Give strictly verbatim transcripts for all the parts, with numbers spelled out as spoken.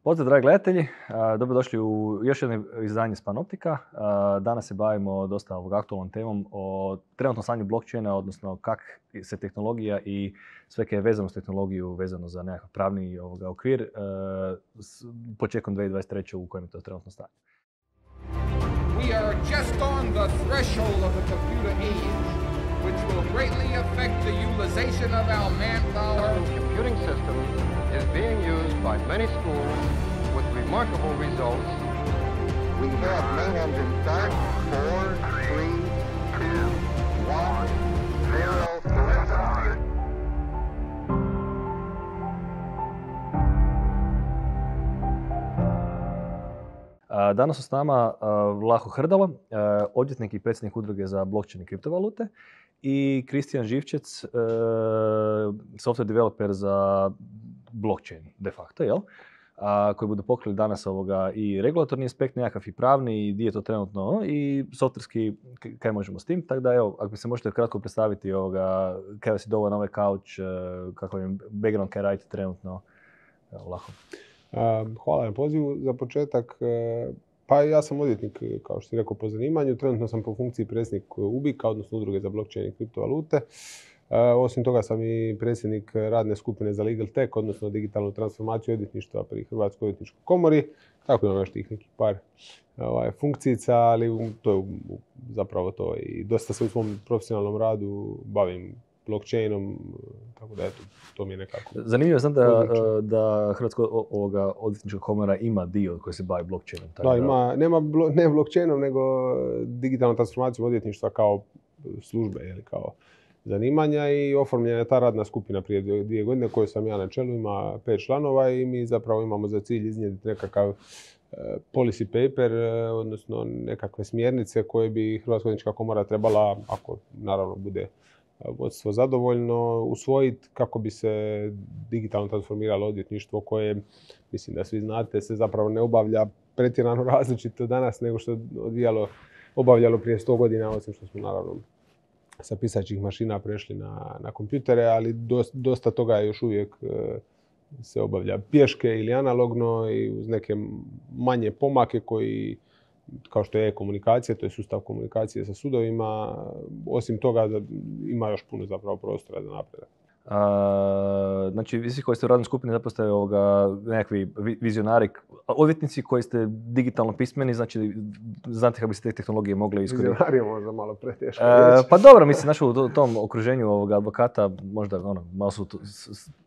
Pozdrav, dragi gledatelji. Dobrodošli u još jedno izdanje Spanoptika. Danas se bavimo dosta ovog aktualnom temom o trenutnom stanju blockchaina, odnosno kak se tehnologija i sve kaj je vezano s tehnologiju, vezano za nekakav pravni ovoga okvir, početkom dvije tisuće dvadeset treće u kojem je to trenutno stanje. We are just on the threshold of the computer age, which will greatly affect the utilization of our manpower. The computing system is being used by many schools with remarkable results. We have main engine start. Four, three, two, one, zero. Danas su s nama Vlaho Hrdalo, odvjetnik i predsjednik udruge za blockchain i kriptovalute, i Kristijan Živčec, software developer za blockchain, de facto, jel? A, koji budu pokrili danas ovoga i regulatorni aspekt, nekakav i pravni, i gdje je to trenutno, i softverski, kaj možemo s tim. Tako da, evo, ako mi se možete kratko predstaviti ovoga, kaj vas je dovoljno na ovaj couch, kakav je background, kaj radite trenutno, evo, Vlaho. Hvala na pozivu. Za početak, pa ja sam odvjetnik, kao što si rekao, po zanimanju. Trenutno sam po funkciji predsjednik U B I K-a, odnosno udruge za blockchain i kriptovalute. Osim toga sam i predsjednik radne skupine za legal tech, odnosno digitalnu transformaciju odvjetništva pri Hrvatskoj odvjetničkoj komori. Tako imam još tih nekih par ovaj, funkcijica, ali to je zapravo to. I dosta se u svom profesionalnom radu bavim blockchainom, tako da eto, to mi je nekako... Zanimljivo sam da, da Hrvatska ovoga odvjetnička komora ima dio koji se bavi blockchainom. Da, ima, nema blo, ne blockchainom, nego digitalnom transformacijom odvjetništva kao službe, ili kao zanimanja, i oformljena je ta radna skupina prije dvije, dvije godine koju sam ja na čelu, ima pet članova, i mi zapravo imamo za cilj iznijeti nekakav policy paper, odnosno nekakve smjernice koje bi Hrvatska odvjetnička komora trebala, ako naravno bude vodstvo zadovoljno, usvojiti kako bi se digitalno transformiralo odvjetništvo koje, mislim da svi znate, se zapravo ne obavlja pretjerano različito danas nego što je odvijalo, obavljalo prije sto godina, osim što smo naravno sa pisaćih mašina prešli na, na kompjutere, ali dosta, dosta toga još uvijek e, se obavlja pješke ili analogno i uz neke manje pomake koji, kao što je e-komunikacija, to je sustav komunikacije sa sudovima. Osim toga ima još puno zapravo prostora za napredak. A, znači, vi svi koji ste u radnoj skupini zapravo ste ovoga, nekakvi vizionari, odvjetnici koji ste digitalno pismeni, znači znate kako bi se te tehnologije mogle iskoristiti. Vizionari je možda malo preteško e, Pa dobro, mislim, znači u tom okruženju ovoga advokata možda ono, malo su... To...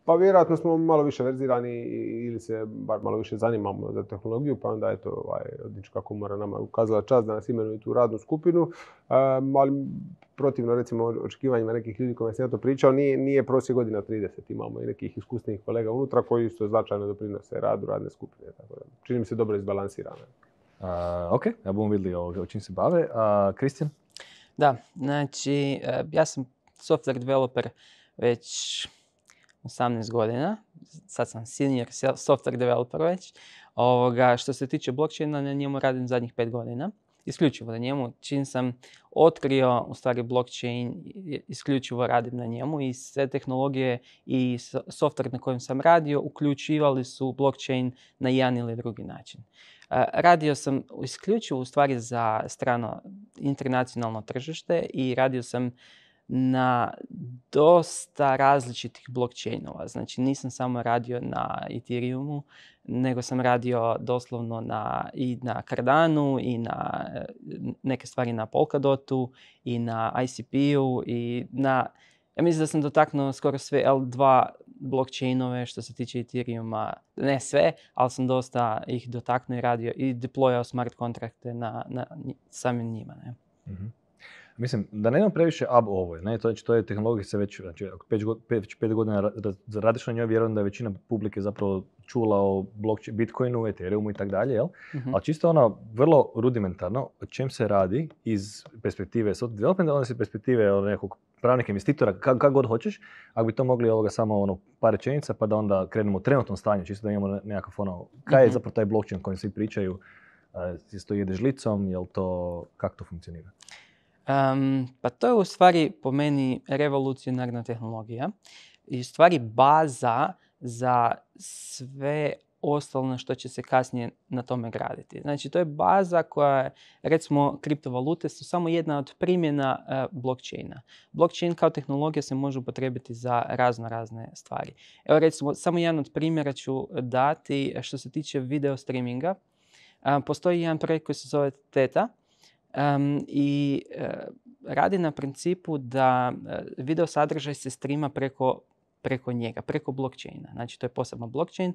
Pa vjerojatno smo malo više verzirani ili se bar malo više zanimamo za tehnologiju, pa onda eto, ovaj, odvjetnička komora nama ukazala čast da nas imenuje tu radnu skupinu, um, ali protivno recimo očekivanjima nekih ljudi kojima sam ja to pričao, nije, nije prosjek godina trideset. Imamo i nekih iskusnih kolega unutra koji isto značajno doprinose radu radne skupine. Tako da, čini mi se dobro izbalansirano. Uh, ok, ja budemo vidjeli o čim se bave. Kristijan? Uh, da, znači ja sam software developer već osamnaest godina. Sad sam senior software developer već. Ovoga, što se tiče blockchaina, na njemu radim zadnjih pet godina. Isključivo na njemu. Čim sam otkrio u stvari blockchain, isključivo radim na njemu, i sve tehnologije i software na kojem sam radio uključivali su blockchain na jedan ili drugi način. Radio sam isključivo u stvari za strano internacionalno tržište i radio sam na dosta različitih blockchainova. Znači nisam samo radio na Ethereumu, nego sam radio doslovno na, i na Cardanu, i na neke stvari na Polkadotu, i na I C P-u, i na... Ja mislim da sam dotaknuo skoro sve L dva blockchainove što se tiče Ethereuma. Ne sve, ali sam dosta ih dotaknuo i radio i deployao smart kontrakte na, na samim njima. Ne? Mm-hmm. Mislim, da nema previše ab ovoj, ne, to, to je tehnologija se već, znači, ako pet, pet, pet godina radiš na njoj, vjerujem da je većina publike zapravo čula o blockchain, Bitcoinu, Ethereumu i tako dalje, jel? Mm-hmm. Ali čisto ono, vrlo rudimentarno, o čem se radi iz perspektive software developmenta, onda iz perspektive nekog pravnika, investitora, kako kak god hoćeš, ako bi to mogli ovoga samo ono, par rečenica, pa da onda krenemo u trenutnom stanju, čisto da imamo nekakav ono, kaj je mm-hmm. zapravo taj blockchain o kojem svi pričaju, uh, to ide žlicom, jel to, kako to funkcionira? Um, pa to je u stvari po meni revolucionarna tehnologija i u stvari baza za sve ostalo na što će se kasnije na tome graditi. Znači, to je baza koja je, recimo, kriptovalute su samo jedna od primjena uh, blockchaina. Blockchain kao tehnologija se može upotrijebiti za razno razne stvari. Evo, recimo, samo jedan od primjera ću dati što se tiče video streaminga. Uh, postoji jedan projekt koji se zove Theta um, i uh, radi na principu da uh, video sadržaj se streama preko preko njega, preko blockchaina. Znači, to je poseban blockchain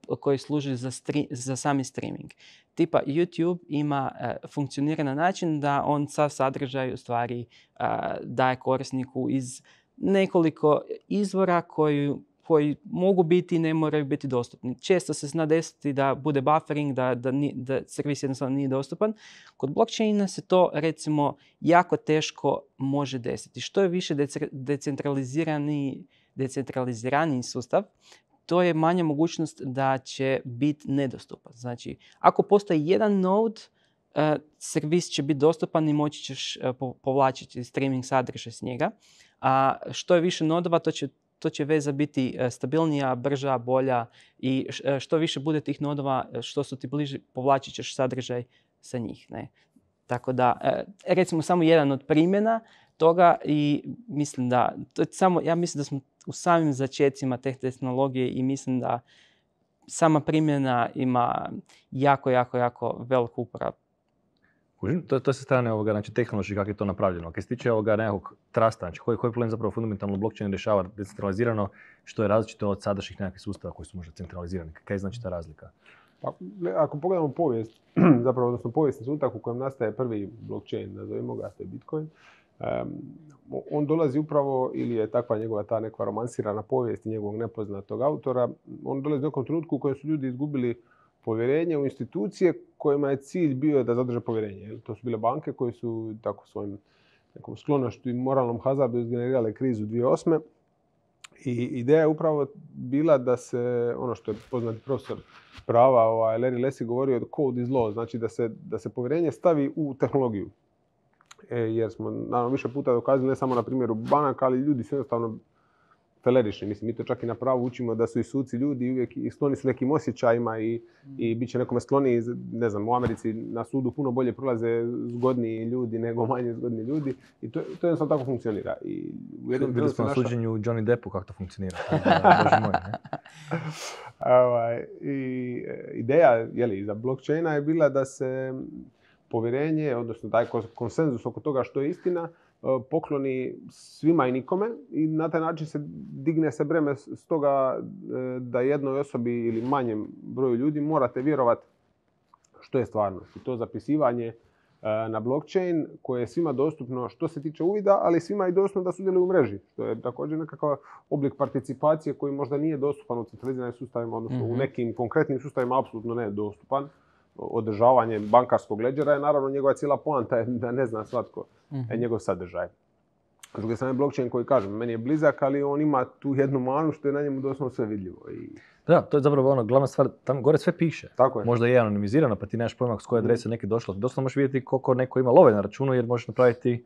uh, koji služi za, stri- za sami streaming. Tipa YouTube ima, uh, funkcionira na način da on sav sadržaj u stvari uh, daje korisniku iz nekoliko izvora koji, koji mogu biti i ne moraju biti dostupni. Često se zna desiti da bude buffering, da, da, ni, da servis jednostavno nije dostupan. Kod blockchaina se to, recimo, jako teško može desiti. Što je više dece- decentralizirani decentraliziraniji sustav, to je manja mogućnost da će biti nedostupan. Znači, ako postoji jedan node, uh, servis će biti dostupan i moći ćeš uh, povlačiti streaming sadržaj s njega. A što je više nodova, to će, to će veza biti uh, stabilnija, brža, bolja i uh, što više bude tih nodova, što su ti bliži, povlačit ćeš sadržaj sa njih. Ne? Tako da, uh, recimo samo jedan od primjena toga i mislim da, to je samo, ja mislim da smo u samim začecima te tehnologije i mislim da sama primjena ima jako, jako, jako veliku uporabu. To, to se strane ovoga, znači tehnološki kako je to napravljeno. Kad se tiče ovoga nekakvog trasta, znači koji, koji problem zapravo fundamentalno blockchain rješava decentralizirano, što je različito od sadašnjih nekakvih sustava koji su možda centralizirani. Kaj je znači ta razlika? Pa, ako pogledamo povijest, zapravo odnosno povijesni trenutak u kojem nastaje prvi blockchain, nazovimo ga, to je Bitcoin, Um, on dolazi upravo, ili je takva njegova ta neka romansirana povijest njegovog nepoznatog autora, on dolazi u nekom trenutku u kojem su ljudi izgubili povjerenje u institucije kojima je cilj bio da zadrže povjerenje. Jel? To su bile banke koje su tako svojim nekom sklonošću i moralnom hazardu izgenerirale krizu dvije tisuće osme. I ideja je upravo bila da se, ono što je poznati profesor prava, ovaj, Larry Lessig govorio, code is law, znači da se, da se povjerenje stavi u tehnologiju. E, jer smo naravno više puta dokazali, ne samo na primjeru banaka, ali ljudi su jednostavno felerični. Mislim, mi to čak i na pravu učimo da su i suci ljudi i uvijek i skloni su nekim osjećajima i, i bit će nekome skloni, ne znam, u Americi na sudu puno bolje prolaze zgodniji ljudi nego manje zgodni ljudi i to, to jednostavno tako funkcionira. I u jednom Bili smo na naša... suđenju Johnny Deppu kako to funkcionira. Bože moj, ne? Ovaj, i ideja jeli, za blockchaina je bila da se povjerenje, odnosno taj konsenzus oko toga što je istina, pokloni svima i nikome i na taj način se digne se breme s toga da jednoj osobi ili manjem broju ljudi morate vjerovati što je stvarnost. I to zapisivanje na blockchain koje je svima dostupno što se tiče uvida, ali svima je dostupno da sudjeluju u mreži, što je također nekakav oblik participacije koji možda nije dostupan u centraliziranim sustavima, odnosno mm-hmm. u nekim konkretnim sustavima apsolutno ne je dostupan. Održavanje bankarskog ledgera je naravno njegova cijela poanta je da ne zna svatko mm-hmm. njegov sadržaj. S druge strane, blockchain koji kažem, meni je blizak, ali on ima tu jednu manu što je na njemu doslovno sve vidljivo. I... Da, to je zapravo ono, glavna stvar, tamo gore sve piše. Tako je. Možda je anonimizirano, pa ti nemaš pojma s koje adrese neki došlo. Doslovno možeš vidjeti koliko neko ima love na računu jer možeš napraviti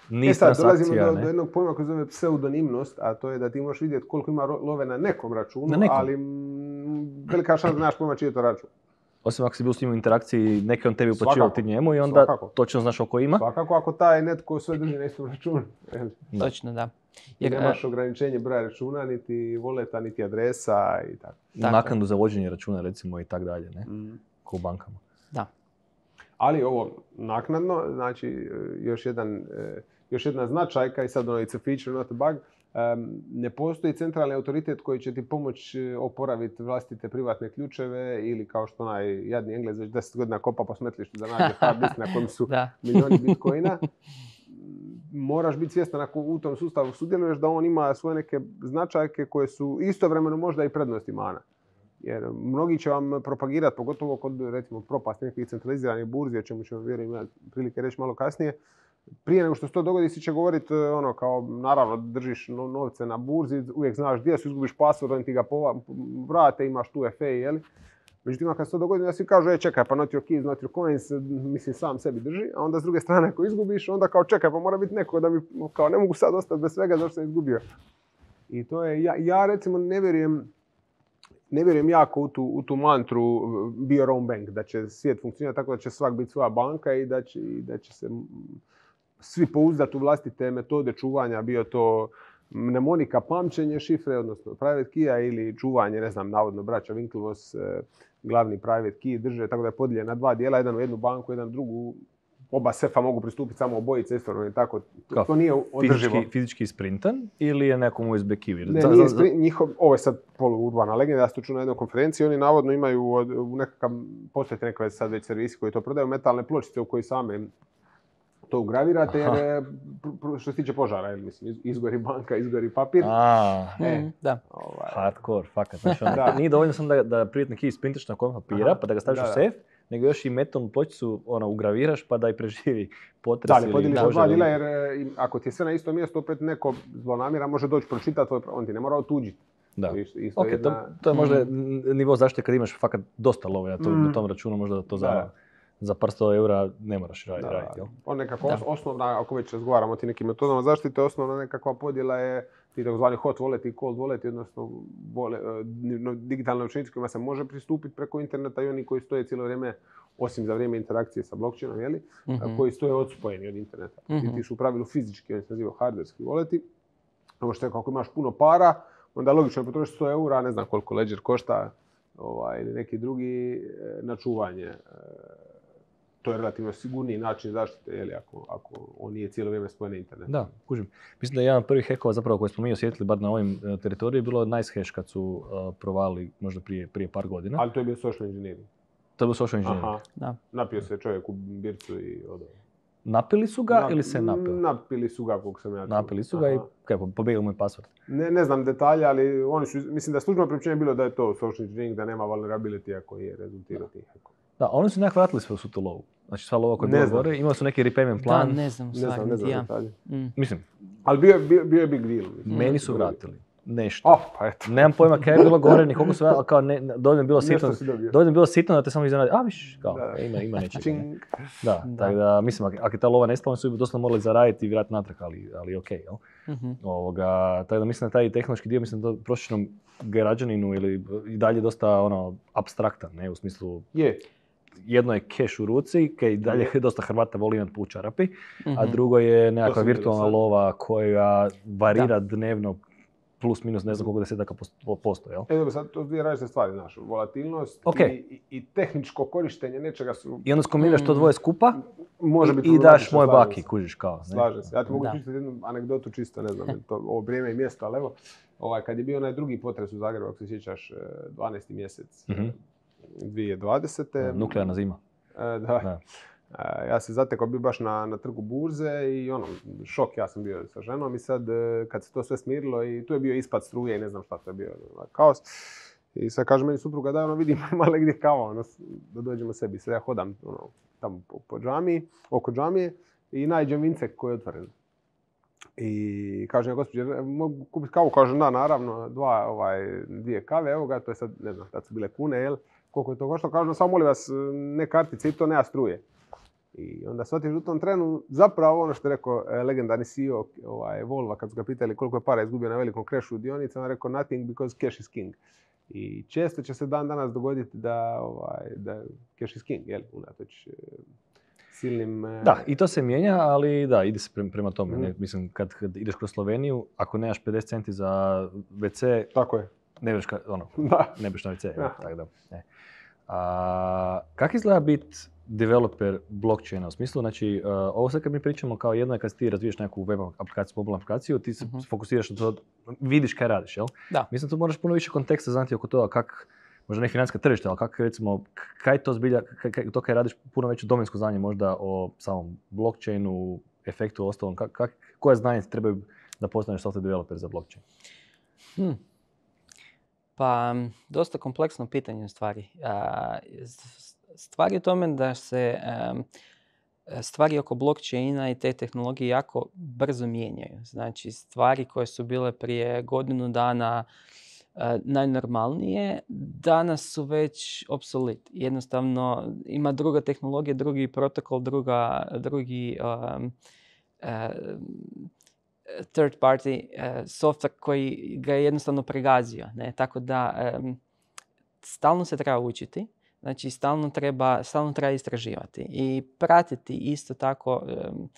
niz transakcija. E sad, dolazimo do, do jednog pojma koji zove pseudonimnost, a to je da ti možeš vidjeti koliko ima love na nekom računu, na nekom. Ali m, velika šansa da nemaš pojma čiji je to račun. Osim ako si bio s njim u interakciji, neki on tebi uplaćivao ti njemu i onda svakako. Točno znaš oko ima. Svakako ako taj netko sve drži na istom računu. Da. Točno, da. Jer nemaš ograničenje broja računa, niti voleta, niti adresa i tako. Naknadu za vođenje računa recimo i tako dalje, ne? Mm. Ko u bankama. Da. Ali ovo naknadno, znači još, jedan, još jedna značajka i sad ono it's a feature, not a bug. Um, ne postoji centralni autoritet koji će ti pomoći oporaviti vlastite privatne ključeve ili kao što onaj jadni Englez već deset godina kopa po smetlištu da nađe hard disk na kojem su milijoni bitcoina. Moraš biti svjestan ako u tom sustavu sudjeluješ da on ima svoje neke značajke koje su istovremeno možda i prednost i mana. Jer mnogi će vam propagirati, pogotovo kod recimo propasti nekih centraliziranih burzi, o čemu ćemo vjerujem imati prilike reći malo kasnije. Prije nego što se to dogodi, si će govoriti ono kao, naravno, držiš novce na burzi, uvijek znaš gdje su, izgubiš pasvord, oni ti ga vrate, imaš tu F A, jeli? Međutim, kad se to dogodi, da svi kažu, e, čekaj, pa not your keys, not your coins, mislim, sam sebi drži, a onda s druge strane, ako izgubiš, onda kao, čekaj, pa mora biti neko da mi, kao, ne mogu sad ostati bez svega zašto sam izgubio. I to je, ja, ja recimo ne vjerujem, ne vjerujem jako u tu, u tu mantru be your own bank, da će svijet funkcionirati tako da će svak biti svoja banka i da će, i da će se svi pouzdati u vlastite metode čuvanja, bio to mnemonika, pamćenje šifre, odnosno private key ili čuvanje, ne znam, navodno braća Winklevoss glavni private key drže, tako da je podijeljen na dva dijela, jedan u jednu banku, jedan u drugu. Oba sefa mogu pristupiti samo obojice istovremeno i tako. To, to nije održivo. Fizički, fizički sprintan ili je nekom U S B key? Ne, nije sprint, njihov, ovo je sad poluurbana legenda, ja sam to čuo na jednoj konferenciji, oni navodno imaju od, u nekakav, postoje nekakve sad već servisi koji to prodaju, metalne pločice u koji same to ugravirate, jer što se tiče požara, jer, mislim, izgori banka, izgori papir. A, e, mm, da. Ovaj. Hardcore, fakat. Znači, da. Nije dovoljno sam da, da privatni key sprintaš na kom papira, aha, pa da ga staviš da, u sef, nego još i metalnu pločicu ono, ugraviraš pa da i preživi potres. Da, ali podijeliš na dva dijela jer ako ti je sve na isto mjesto, opet neko zlonamjera može doći pročitati tvoj, on ti ne mora otuđiti. Da. Isto, isto okay, jedna... to, to je možda mm. nivo zaštite kad imaš fakat dosta love na, to, mm. na tom računu, možda to za, da. za par sto eura ne moraš raditi. raditi on nekako da. osnovna, ako već razgovaramo o tim nekim metodama zaštite, osnovna nekakva podjela je ti takozvani hot wallet i cold wallet, odnosno digitalne novčanice kojima se može pristupiti preko interneta i oni koji stoje cijelo vrijeme, osim za vrijeme interakcije sa blockchainom, jeli, mm-hmm. koji stoje odspojeni od interneta. Mm-hmm. Ti su u pravilu fizički, oni se nazivaju hardwareski walleti. Ovo što je kako imaš puno para, onda logično je potrošiti sto eura, ne znam koliko Ledger košta ovaj, ili neki drugi na čuvanje. To je relativno sigurniji način zaštite, jeli, ako, ako on nije cijelo vrijeme spojen na internetu. Da, kužim. Mislim da je jedan od prvih hekova zapravo koji smo mi osjetili, bar na ovim uh, teritoriju, bilo NiceHash kad su uh, provali možda prije, prije par godina. Ali to je bio social engineering. To je bio social engineering. Aha. Da. Napio se čovjek u bircu i odao. Napili su ga Na, ili se napili? Napili su ga, koliko sam ja čuo. Napili su ga. Aha. I kaj, pobegao mu je password. Ne, ne znam detalje, ali oni su, mislim da službeno priopćenje bilo da je to social engineering, da nema vulnerability ako je rezultirao tih hekova. Da, oni su nekako vratili sve u tu lovu. Znači sva lova koja je bila gore, imali su neki repayment plan. Da, ne znam, ne znam, ne znam ja. detalje. Mm. Mislim. Ali bio, bio, bio je big deal. Mislim. Meni su vratili. Nešto. Oh, pa eto. Nemam pojma kaj je bilo gore, ni koliko su vratili, ali kao ne, dovoljno je bilo sitno. Dovoljno je bilo sitno da te samo iznenadi. A viš, kao, da. ima, ima nečega. Ne? Da, da, tako da, mislim, ako je ta lova nestala, su doslovno morali zaraditi i vratiti natrag, ali, ali okej, okay, jel? Mm-hmm. Ovoga, tako da mislim da taj tehnološki dio, mislim da prosječnom građaninu ili i dalje dosta ono, apstraktan, ne, u smislu... Je. Jedno je keš u ruci, kaj dalje dosta Hrvata voli imati u čarapi, mm-hmm. a drugo je nekakva virtualna lova koja varira da. dnevno plus minus ne znam koliko desetaka posto, jel? E, dobro, sad to dvije različite stvari, znaš, volatilnost okay. i, i tehničko korištenje nečega su... I onda skombiniraš mm. to dvoje skupa može biti i daš moje baki, kužiš kao. Ne? Slažem se. Ja ti mogu pričati jednu anegdotu čisto, ne znam, to, ovo vrijeme i mjesto, ali evo, ovaj, kad je bio onaj drugi potres u Zagrebu, ako se sjećaš, dvanaesti mjesec mm-hmm. dvije tisuće dvadesete. Nuklearna zima. E, da. da. E, ja se zatekao bio baš na, na trgu burze i ono, šok, ja sam bio sa ženom i sad kad se to sve smirilo i tu je bio ispad struje i ne znam šta, to je bio kaos. I sad kaže meni supruga da ono vidim malo gdje kava, ono, da dođemo sebi. Sad ja hodam ono, tamo po, po džamiji, oko džamije i nađem vincek koji je otvoren. I kaže ja, gospođe, mogu kupiti kavu? Kaže da, naravno, dva, ovaj, dvije kave, evo ga, to je sad, ne znam, tad su bile kune, jel? Koliko je to koštalo? Kaže, samo molim vas, ne kartice i to nema struje. I onda shvatiš u tom trenu zapravo ono što je rekao legendarni C E O ovaj, Volva, kad su ga pitali koliko je para izgubio na velikom krešu u dionicama, on rekao nothing because cash is king. I često će se dan danas dogoditi da, ovaj, da cash is king, jel, unatoč silnim... Da, i to se mijenja, ali da, ide se prema tome. Mm. Ne, mislim, kad, kad ideš kroz Sloveniju, ako nemaš pedeset centi za ve ce, tako je. Ne budeš ono, ne budeš na ve ce. Tako da, ne. A, kako izgleda biti developer blockchaina? U smislu, znači, uh, ovo sad kad mi pričamo kao jedno je kad ti razviješ neku web aplikaciju, mobilnu aplikaciju, ti se uh-huh. fokusiraš na to, vidiš kaj radiš, jel? Da. Mislim, tu moraš puno više konteksta znati oko toga kak, možda ne financijska tržišta, ali kako recimo, kaj to zbilja, kaj, to kaj radiš, puno veće domensko znanje možda o samom blockchainu, efektu, ostalom, kak, kak, koje znanje trebaju da postaneš software developer za blockchain? Hmm. Pa, dosta kompleksno pitanje u stvari. Stvar je u tome da se stvari oko blockchaina i te tehnologije jako brzo mijenjaju. Znači, stvari koje su bile prije godinu dana najnormalnije, danas su već obsolet. Jednostavno, ima druga tehnologija, drugi protokol, druga, drugi um, uh, third party uh, software koji ga je jednostavno pregazio. Ne? Tako da um, stalno se treba učiti, znači stalno treba, stalno treba istraživati i pratiti isto tako um,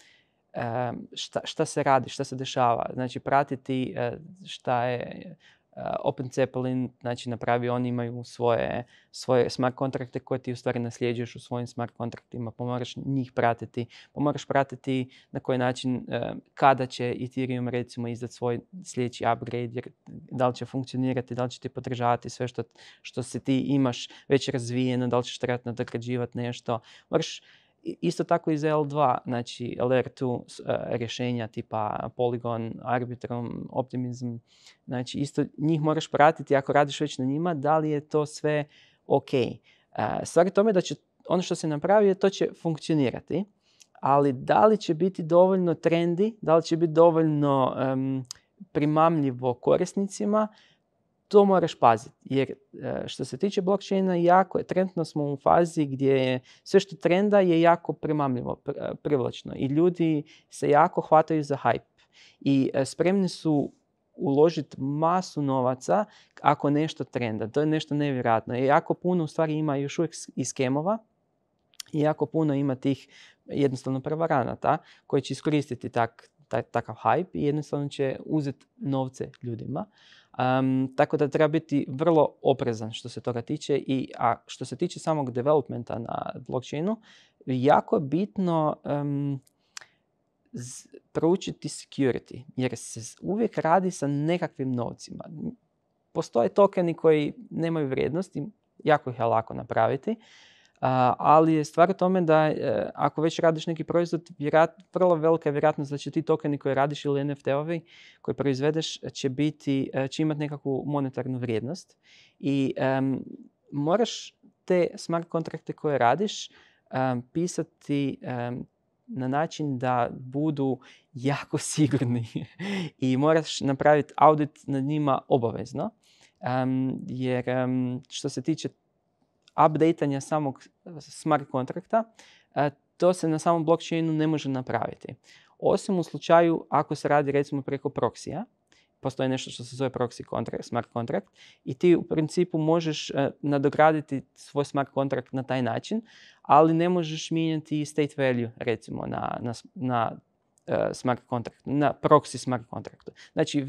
um, šta, šta se radi, šta se dešava. Znači pratiti uh, šta je uh, OpenZeppelin, znači napravi, oni imaju svoje, svoje smart kontrakte koje ti u stvari nasljeđuješ u svojim smart kontraktima, pa moraš njih pratiti, pa moraš pratiti na koji način, uh, kada će Ethereum recimo izdati svoj sljedeći upgrade, jer da li će funkcionirati, da li će ti podržavati sve što, što se ti imaš već razvijeno, da li ćeš trebati nadograđivati nešto. Moraš isto tako i za L dva, znači L R dva uh, rješenja tipa Polygon, Arbitrum, Optimism, znači isto njih moraš pratiti ako radiš već na njima, da li je to sve ok. Uh, stvar je tome da će ono što se napravi, to će funkcionirati, ali da li će biti dovoljno trendi, da li će biti dovoljno um, primamljivo korisnicima, to moraš paziti, jer što se tiče blockchaina, jako je, trenutno smo u fazi gdje je sve što trenda je jako primamljivo, privlačno i ljudi se jako hvataju za hype i spremni su uložiti masu novaca ako nešto trenda. To je nešto nevjerojatno. I jako puno u stvari ima još uvijek i skemova i jako puno ima tih jednostavno prevaranata koji će iskoristiti tak, tak, takav hype i jednostavno će uzeti novce ljudima. Um, tako da treba biti vrlo oprezan što se toga tiče. I, a što se tiče samog developmenta na blockchainu, jako je bitno um, z, proučiti security, jer se uvijek radi sa nekakvim novcima. Postoje tokeni koji nemaju vrijednosti, jako ih je lako napraviti, uh, ali je stvar u tome da uh, ako već radiš neki proizvod, vjerat, vrlo velika je vjerojatnost da će ti tokeni koje radiš ili N F T-ovi koje proizvedeš će, biti, uh, će imati nekakvu monetarnu vrijednost i um, moraš te smart kontrakte koje radiš um, pisati um, na način da budu jako sigurni i moraš napraviti audit nad njima obavezno, um, jer um, što se tiče updateanja samog smart kontrakta, to se na samom blockchainu ne može napraviti. Osim u slučaju ako se radi recimo preko proksija, postoji nešto što se zove proxy kontrakt, smart kontrakt i ti u principu možeš nadograditi svoj smart kontrakt na taj način, ali ne možeš mijenjati state value recimo na, na, na uh, smart kontrakt, na proxy smart kontraktu. Znači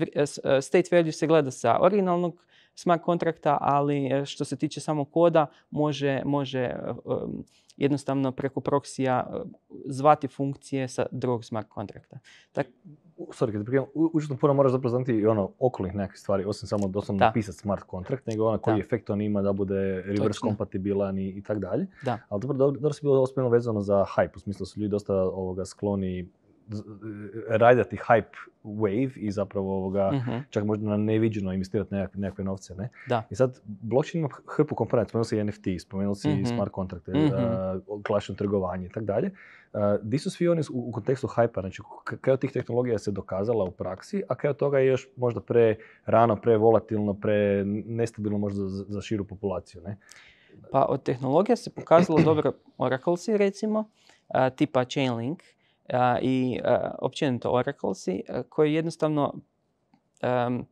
state value se gleda sa originalnog smart kontrakta, ali što se tiče samog koda može, može um, jednostavno preko proksija uh, zvati funkcije sa drugog smart kontrakta. Tak, Sorry, kad prijem, užasno puno moraš zapravo znati i ono okolnih nekakvih stvari, osim samo doslovno napisati smart kontrakt, nego ono koji da. efekt on ima da bude reverse kompatibilan i, i tak dalje. Da. Ali dobro, dobro, dobro si bilo ospomeno vezano za hype, u smislu su ljudi dosta ovoga skloni rajdati hype wave i zapravo ovoga, uh-huh. čak možda na neviđeno investirati nekakve, nekakve novce, ne? Da. I sad, blockchain ima hrpu komponenta, spomenuo si N F T, spomenuo si uh-huh. smart kontrakte, uh-huh. uh, klasično trgovanje i tak dalje. Uh, di su svi oni u, u kontekstu hype-a, znači kaj od tih tehnologija se dokazala u praksi, a kaj od toga je još možda pre rano, pre volatilno, pre nestabilno možda za, za širu populaciju, ne? Pa od tehnologija se pokazalo dobro Oraclesi recimo, uh, tipa Chainlink, Uh, i uh, općenito Oraclesi uh, koji jednostavno um,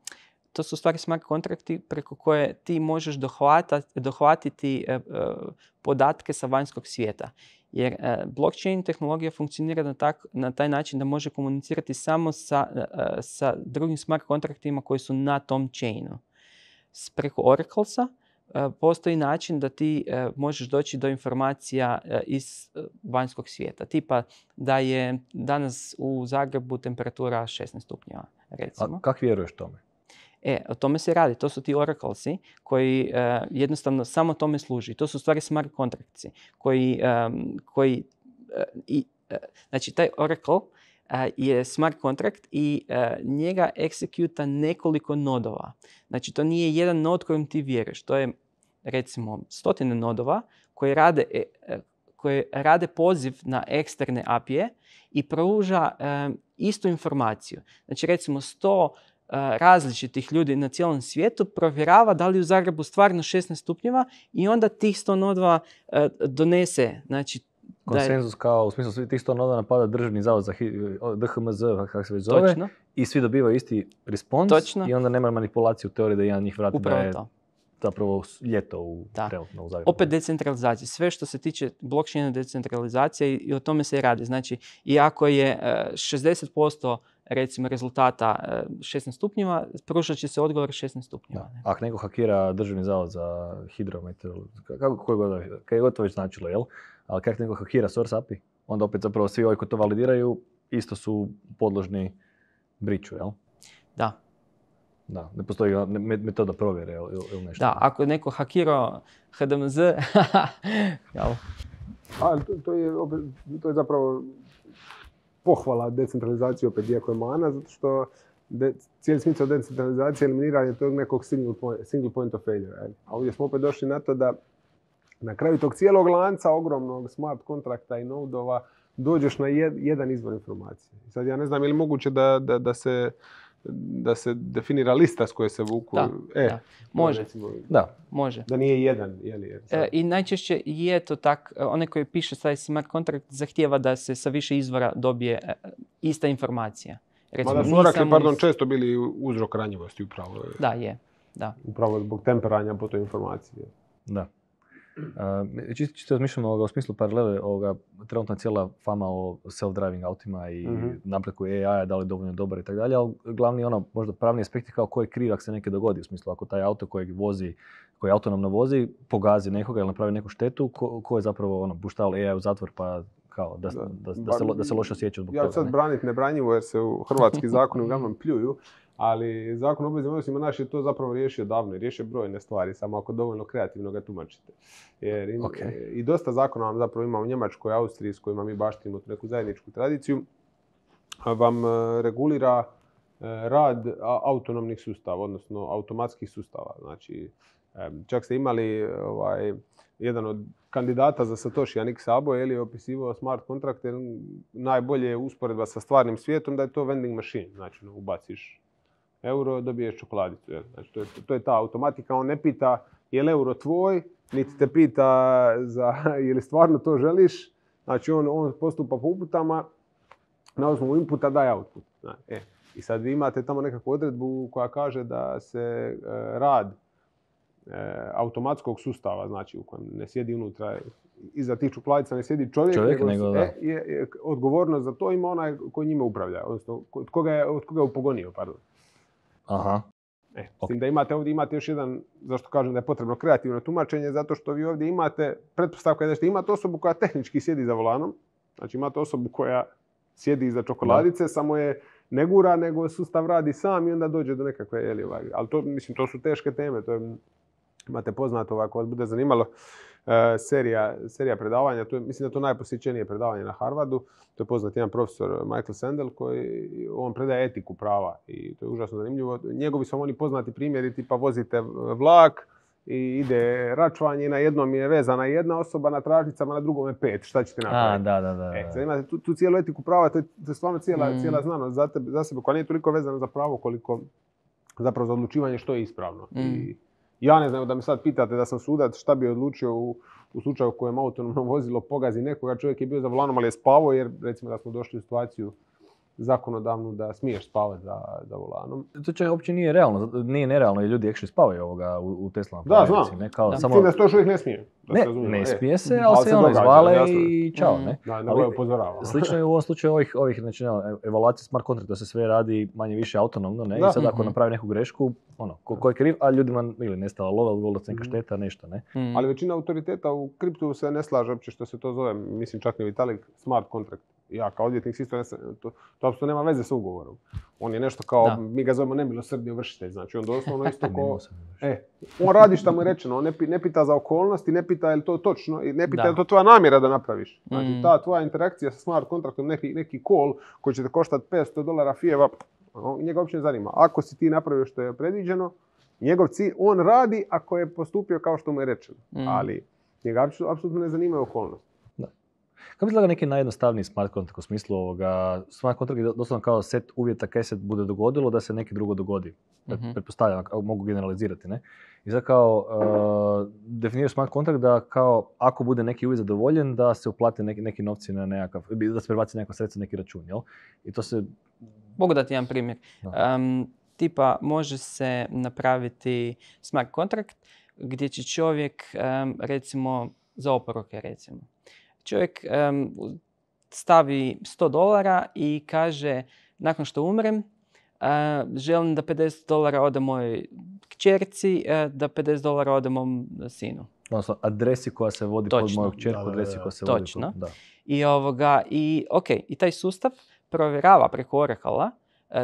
to su stvari smart kontrakti preko koje ti možeš dohvata, dohvatiti uh, uh, podatke sa vanjskog svijeta. Jer uh, blockchain tehnologija funkcionira na, tak, na taj način da može komunicirati samo sa, uh, sa drugim smart kontraktima koji su na tom chainu. S preko Oraclesa Uh, postoji način da ti uh, možeš doći do informacija uh, iz uh, vanjskog svijeta. Tipa da je danas u Zagrebu temperatura šesnaest stupnjeva, recimo. A kako vjeruješ tome? E, o tome se radi. To su ti oraclesi koji uh, jednostavno samo tome služi. To su stvari smart kontrakti koji, um, koji uh, i, uh, znači taj oracle Uh, je smart kontrakt i uh, njega executa nekoliko nodova. Znači to nije jedan nod kojim ti vjeruješ. To je recimo stotine nodova koji rade, uh, koji rade poziv na eksterne A P I-e i pruža um, istu informaciju. Znači recimo sto uh, različitih ljudi na cijelom svijetu provjerava da li u Zagrebu stvarno šesnaest stupnjeva i onda tih sto nodova uh, donese, znači konsenzus kao, u smislu svi tih sto noda napada državni zavod za D H M Z, kako se već zove, Točno. I svi dobivaju isti respons. Točno. I onda nema manipulaciju u teoriji da jedan njih vrati Upravo da je to. zapravo ljeto u, Da. trenutno u Zagrebu. Opet decentralizacija. Sve što se tiče blockchaina decentralizacije i, i o tome se i radi. Znači, i ako je uh, šezdeset posto recimo rezultata uh, šesnaest stupnjeva, pružat će se odgovor šesnaest stupnjeva. Da. Ne? Ako neko hakira Državni zavod za hidrometeorologiju, kako koji god, kaj god to već značilo, jel? Ali kako neko hakira Source A P I, onda opet zapravo svi ovi koji to validiraju isto su podložni briču, jel? Da. Da, ne postoji me- metoda provjere ili, ili nešto. Da, ako je neko hakirao H D M Z, jel? Ali to, to, je, opet, to je zapravo pohvala decentralizacije opet, iako je mana, zato što de, cijeli smisao decentralizacije je eliminiranje tog nekog single point, single point of failure. Jel? A ovdje smo opet došli na to da na kraju tog cijelog lanca ogromnog smart kontrakta i nodova dođeš na jed, jedan izvor informacije. I sad ja ne znam je li moguće da, da, da se da se definira lista s koje se vuku. Da, e, da. Može. Recimo, Da. Može. da nije jedan, je li? Jer sad- E, I najčešće je to tak, e, onaj koji piše taj smart contract zahtijeva da se sa više izvora dobije e, ista informacija. Recimo, Mada su nije Oracle, samo pardon, iz- često bili uzrok ranjivosti upravo. Da, je. Da. Upravo zbog temperanja po toj informaciji. Da. Uh, čisto, čisto razmišljam ovoga, u smislu paralele, ovoga, trenutno je cijela fama o self-driving autima i Mhm. napretku A I-a, da li je dovoljno dobar i tako dalje, ali glavni ono, možda pravni aspekt je kao ko je kriv ako se nekaj dogodi, u smislu ako taj auto kojeg vozi, koji autonomno vozi, pogazi nekoga ili napravi neku štetu, ko, ko je zapravo ono, puštao A I u zatvor pa kao da, da, da, da, se, lo- da se loše osjeća zbog Ja ću toga. sad ne? braniti nebranjivo jer se u hrvatski zakoni uglavnom pljuju, ali zakon o obveznim odnosima naš je to zapravo riješio davno i riješio brojne stvari, samo ako dovoljno kreativno ga tumačite. Jer im, Ok. i dosta zakona vam zapravo ima u Njemačkoj, Austriji s kojima mi baštimo tu neku zajedničku tradiciju, vam e, regulira e, rad a- autonomnih sustava, odnosno automatskih sustava. Znači, e, čak ste imali ovaj, jedan od kandidata za Satoshi Nick Szabo je opisivao smart kontrakte, najbolje je usporedba sa stvarnim svijetom da je to vending machine. Znači, no, ubaciš euro, dobiješ čokoladicu. Jel? Znači, to je, to je ta automatika. On ne pita je li euro tvoj, niti te pita za je li stvarno to želiš. Znači, on, on postupa po uputama, na osnovu inputa daje output. Znači, e. I sad vi imate tamo nekakvu odredbu koja kaže da se e, rad e, automatskog sustava, znači u kojem ne sjedi unutra, iza tih čokoladica ne sjedi čovjek, Čovjek, nego, nego da. e, je, je, odgovornost za to ima onaj koji njime upravlja, odnosno od koga je, od koga je upogonio, pardon. Aha. E, s Ok. tim da imate ovdje imate još jedan, zašto kažem da je potrebno kreativno tumačenje, zato što vi ovdje imate, pretpostavka je da ćete imati osobu koja tehnički sjedi za volanom, znači imate osobu koja sjedi iza čokoladice, samo je ne gura, nego sustav radi sam i onda dođe do nekakve, jeli, ovaj, ali to, mislim, to su teške teme, to je, imate poznato, ovaj, ako vas bude zanimalo, e, serija, serija predavanja, to je, mislim da je to najposjećenije predavanje na Harvardu, to je poznat jedan profesor Michael Sandel koji on predaje etiku prava i to je užasno zanimljivo. Njegovi su oni poznati primjeri, tipa vozite vlak i ide račvanje, na jednom je vezana jedna osoba, na tračnicama, na drugom je pet, šta ćete A, napraviti? da, da, da. E, da. sad imate tu, tu cijelu etiku prava, to je, to je stvarno cijela, Mm. cijela znanost za, tebe, za sebe koja nije toliko vezana za pravo koliko zapravo za odlučivanje što je ispravno. Mm. I ja ne znam da me sad pitate da sam sudac šta bi odlučio u, u slučaju u kojem autonomno vozilo pogazi nekoga, čovjek je bio za volanom ali je spavao jer recimo da smo došli u situaciju zakonodavnu da smiješ spavati za, za volanom. To čak uopće nije realno, zato- nije nerealno i ljudi actually spavaju ovoga u, u Teslama. Da, po znam. Americi, Ne, kao, Da. samo, S tim da se to još uvijek ne smije. Da se ne, razumijemo. ne E, smije se, ali ali se ono događa, izvale jasno. i čao, Mm. ne? Da, nego Ali je upozorava. Slično je u ovom slučaju ovih, ovih znači, ono, evaluacije smart kontrakta, da se sve radi manje više autonomno, ne? Da. I sad ako Mhm. napravi neku grešku, ono, ko, ko je kriv, a ljudima ili nestala lova, ili volila neka Mhm. šteta, nešto, ne? Mm. Ali većina autoriteta u kriptu se ne slaže uopće što se to zove, mislim čak ni u Italiji, smart contract. Ja kao odvjetnik isto ne se, to, to apsolutno nema veze sa ugovorom. On je nešto kao, Da. mi ga zovemo nemilosrdni ovršitelj, znači on doslovno isto ko, Nimao sam još. e, on radi šta mu je rečeno, on ne, pi- ne pita za okolnosti, ne pita je li to točno, i ne pita Da. je li to tvoja namjera da napraviš. Znači Mm. ta tvoja interakcija sa smart kontraktom, neki, neki call koji će te koštati petsto dolara fijeva, on- njega uopće ne zanima. Ako si ti napravio što je predviđeno, njegov cilj, on radi ako je postupio kao što mu je rečeno, Mm. ali njega apsu- apsolutno ne zanimaju okolnosti. Kako izgleda neki najjednostavniji smart contract u smislu ovoga, smart contract je doslovno kao set uvjeta kaj se bude dogodilo da se neki drugo dogodi. Pret- Mhm. Pretpostavljam, ako mogu generalizirati, ne? I sad kao uh, definiraš smart contract da kao ako bude neki uvjet zadovoljen da se uplate neki, neki novci na nekakav, da se prebaci nekakva sredstva na neki račun, jel? I to se, Mogu dati jedan primjer. Da. Um, tipa može se napraviti smart contract gdje će čovjek, um, recimo, za oporuke recimo, čovjek um, stavi sto dolara i kaže, nakon što umrem, uh, želim da pedeset dolara ode mojoj kćerci, uh, da pedeset dolara ode mom sinu. Odnosno, adresi koja se vodi Točno. pod moju kćerku, Da, da, da. adresi koja se Točno. vodi pod... Da. I, ovoga, i, okay, i taj sustav provjerava preko Oracle-a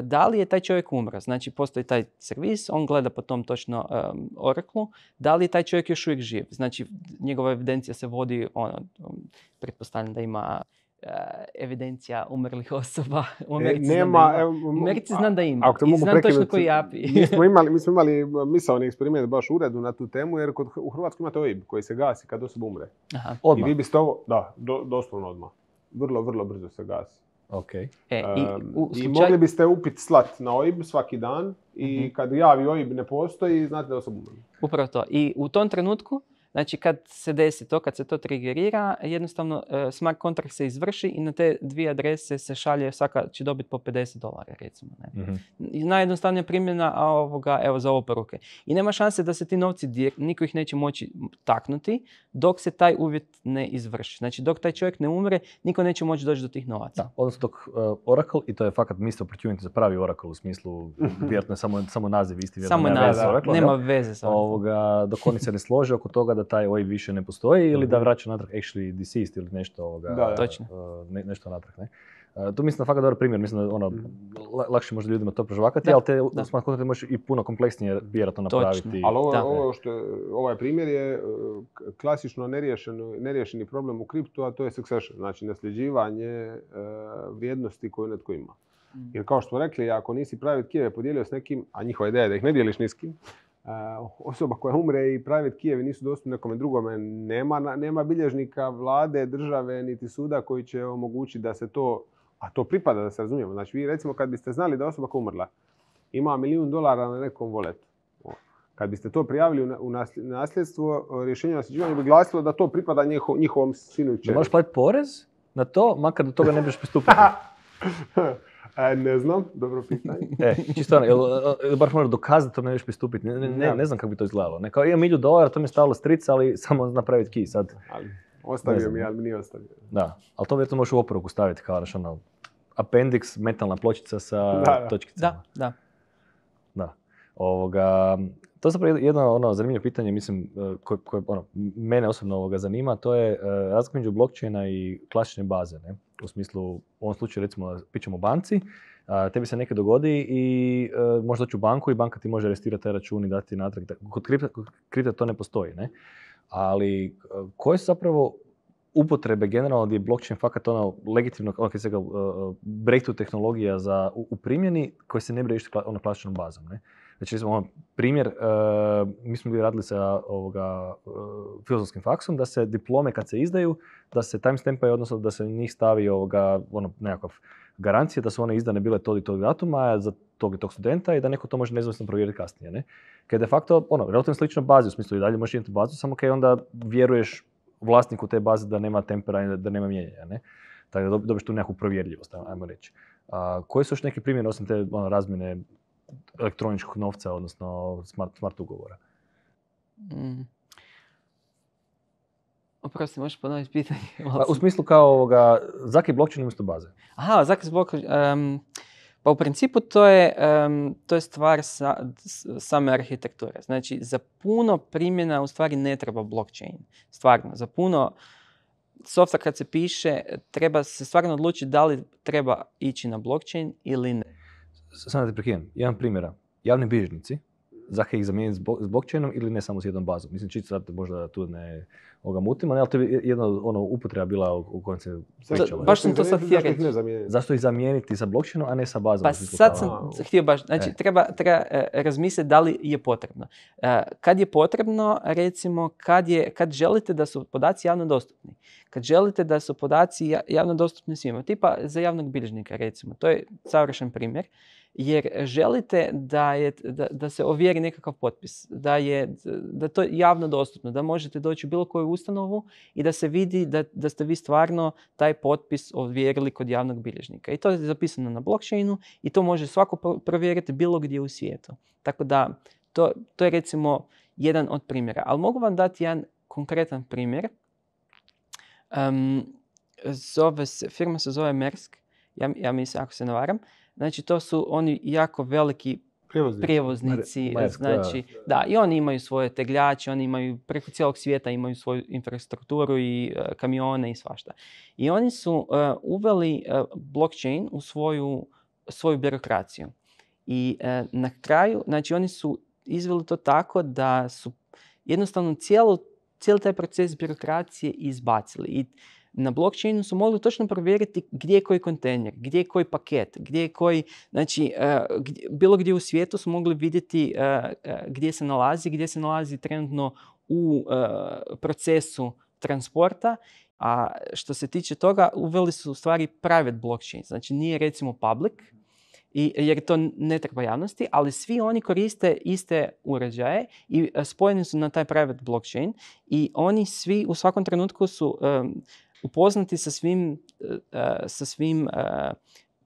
da li je taj čovjek umro. Znači, postoji taj servis, on gleda po tom točno um, Oracle-u, da li je taj čovjek još uvijek živ. Znači, njegova evidencija se vodi, ono, um, pretpostavljam da ima uh, evidencija umrlih osoba. U Americi znam nema, da ima. evo, U Americi znam da ima. Ako te I mogu znam točno prekinuti, koji A P I. mi smo imali, mi smo imali misaoni eksperiment baš u uredu na tu temu, jer kod, u Hrvatskoj imate O I B koji se gasi kad osoba umre. Aha. Odmah. I vi biste ovo, da, do, doslovno odmah. Vrlo, vrlo brzo se gasi. Ok. E, i, Um, u I slučaju- mogli biste upit slat na O I B svaki dan i Mhm. kad javi O I B ne postoji, znate da osoba umre. Upravo to. I u tom trenutku, znači kad se desi to, kad se to triggerira, jednostavno uh, smart contract se izvrši i na te dvije adrese se šalje, svaka će dobiti po pedeset dolara recimo. Ne? Mhm. I najjednostavnija primjena a ovoga, evo za oporuke. I nema šanse da se ti novci, direkt, niko ih neće moći taknuti dok se taj uvjet ne izvrši. Znači dok taj čovjek ne umre, niko neće moći doći do tih novaca. Da, odnosno dok uh, Oracle, i to je fakat missed opportunity za pravi Oracle u smislu, vjerojatno je samo, samo naziv isti, vjerojatno Samo je nema veze naziv, s Oracle, nema jel? veze sa Ovoga, dok oni se ne slože oko toga da taj O I B više ne postoji ili da vraća natrag actually deceased ili nešto ovoga, Da, da. Točno. uh, ne, nešto natrag, ne? Uh, to mislim da fakat dobar primjer, mislim da ono, la- lakše može ljudima to prožvakati, Da, ali te da. smart contracte možeš i puno kompleksnije vjerojatno Točno. napraviti. Ali ovo, Da. ovo što je, ovaj primjer je uh, k- klasično neriješeno, neriješeni problem u kriptu, a to je succession, znači nasljeđivanje uh, vrijednosti koju netko ima. Jer kao što smo rekli, ako nisi private key podijelio s nekim, a njihova ideja je da ih ne dijeliš ni s kim, uh, osoba koja umre i private keyevi nisu dostupni nekome drugome, nema, na- nema bilježnika, vlade, države, niti suda koji će omogućiti da se to, a to pripada da se razumijemo. Znači vi recimo kad biste znali da osoba koja je umrla ima milijun dolara na nekom voletu, kad biste to prijavili u na- u nasl- nasljedstvo, rješenje o nasljeđivanju bi glasilo da to pripada njiho- njihovom sinu i Da kćeri. moraš platiti porez na to, makar do toga ne biš pristupiti. E, ne znam, dobro pitanje. E, čisto ono, jel, jel baš moraš dokazati da to ne biš pristupiti. Ne, ne, ne, Da. ne znam kako bi to izgledalo. Ne, kao imam milju dolara, to mi je stavilo strica, ali samo napraviti key sad. Ali, Ne ostavio znam. mi, ali mi nije ostavio. Da, ali to vjerojatno možeš u oporuku staviti kao naš ono, appendix, metalna pločica sa Da, da. točkicama. Da, da. Da. Ovoga, to je zapravo jedno ono zanimljivo pitanje, mislim, eh, koje, koje ono, mene osobno ovoga zanima, to je uh, razlika među blockchaina i klasične baze. Ne? U smislu, u ovom slučaju recimo pričamo o banci, a, tebi se nekaj dogodi i uh, možeš doći u banku i banka ti može restirati taj račun i dati natrag. Kod kripta, kod kripta to ne postoji, ne? Ali uh, koje su zapravo upotrebe generalno gdje je blockchain fakat ono legitimno, ono se uh, breakthrough tehnologija za, u, u primjeni koje se ne bi riješiti kla, ono klasičnom bazom, ne? Znači, recimo, ono, primjer, uh, mi smo bili radili sa ovoga, uh, filozofskim faksom, da se diplome kad se izdaju, da se timestampaju, odnosno da se njih stavi ovoga, ono, nekakav garancija da su one izdane bile tog i tog datuma za tog i tog studenta i da neko to može nezavisno provjeriti kasnije, ne? Kad de facto, ono, relativno slično bazi, u smislu i dalje možeš imati bazu, samo kad onda vjeruješ vlasniku te baze da nema tempera i da nema mijenjanja, ne? Tako da dob- dobiš tu nekakvu provjerljivost, ajmo reći. A, koji su još neki primjeri osim te ono, razmjene elektroničkog novca, odnosno smart, smart ugovora? Mm. Oprosti, možeš ponoviti pitanje? Pa, u smislu kao ovoga, zaki blockchain umjesto baze. Aha, zakaz blok, um, pa u principu to je, um, to je stvar sa, s- same arhitekture. Znači, za puno primjena u stvari ne treba blockchain. Stvarno, za puno softa kad se piše, treba se stvarno odlučiti da li treba ići na blockchain ili ne. Samo da te prekinem, jedan primjera. Javni bilježnici, zaka ih zamijeniti s blo- s blockchainom ili ne samo s jednom bazom? Mislim, čisto sad možda tu ne ovoga mutimo, ne, ali to je jedna ono, upotreba bila u, u kojem se pričalo. baš sam to sad htio Zašto ih reći. ne zamijeniti? Zašto ih zamijeniti sa blockchainom, a ne sa bazom? Pa u smislu sad kao- sam kao- htio baš, znači E. treba, treba e, razmisliti da li je potrebno. E, kad je potrebno, recimo, kad, je, kad želite da su podaci javno dostupni, kad želite da su podaci ja- javno dostupni svima, tipa za javnog bilježnika, recimo, to je savršen primjer, jer želite da, je, da, da se ovjeri nekakav potpis, da je da to je javno dostupno, da možete doći u bilo koju ustanovu i da se vidi da, da ste vi stvarno taj potpis ovjerili kod javnog bilježnika. I to je zapisano na blockchainu i to može svako pro- provjeriti bilo gdje u svijetu. Tako da to, to je recimo jedan od primjera. Ali mogu vam dati jedan konkretan primjer. Um, zove se, firma se zove Maersk, ja, ja mislim, ako se ne varam. Znači, to su oni jako veliki Prijevoznici. prijevoznici. Maersk, Znači, da, i oni imaju svoje tegljače, oni imaju preko cijelog svijeta imaju svoju infrastrukturu i uh, kamione i svašta. I oni su uh, uveli uh, blockchain u svoju, svoju birokraciju. I uh, na kraju, znači oni su izveli to tako da su jednostavno cijelo, cijeli taj proces birokracije izbacili. I na blockchainu su mogli točno provjeriti gdje je koji kontejner, gdje je koji paket, gdje je koji, znači uh, gdje, bilo gdje u svijetu su mogli vidjeti uh, uh, gdje se nalazi, gdje se nalazi trenutno u uh, procesu transporta. A što se tiče toga, uveli su u stvari private blockchain, znači nije recimo public, I, jer to ne treba javnosti, ali svi oni koriste iste uređaje i uh, spojeni su na taj private blockchain i oni svi u svakom trenutku su um, upoznati sa svim, uh, sa svim uh,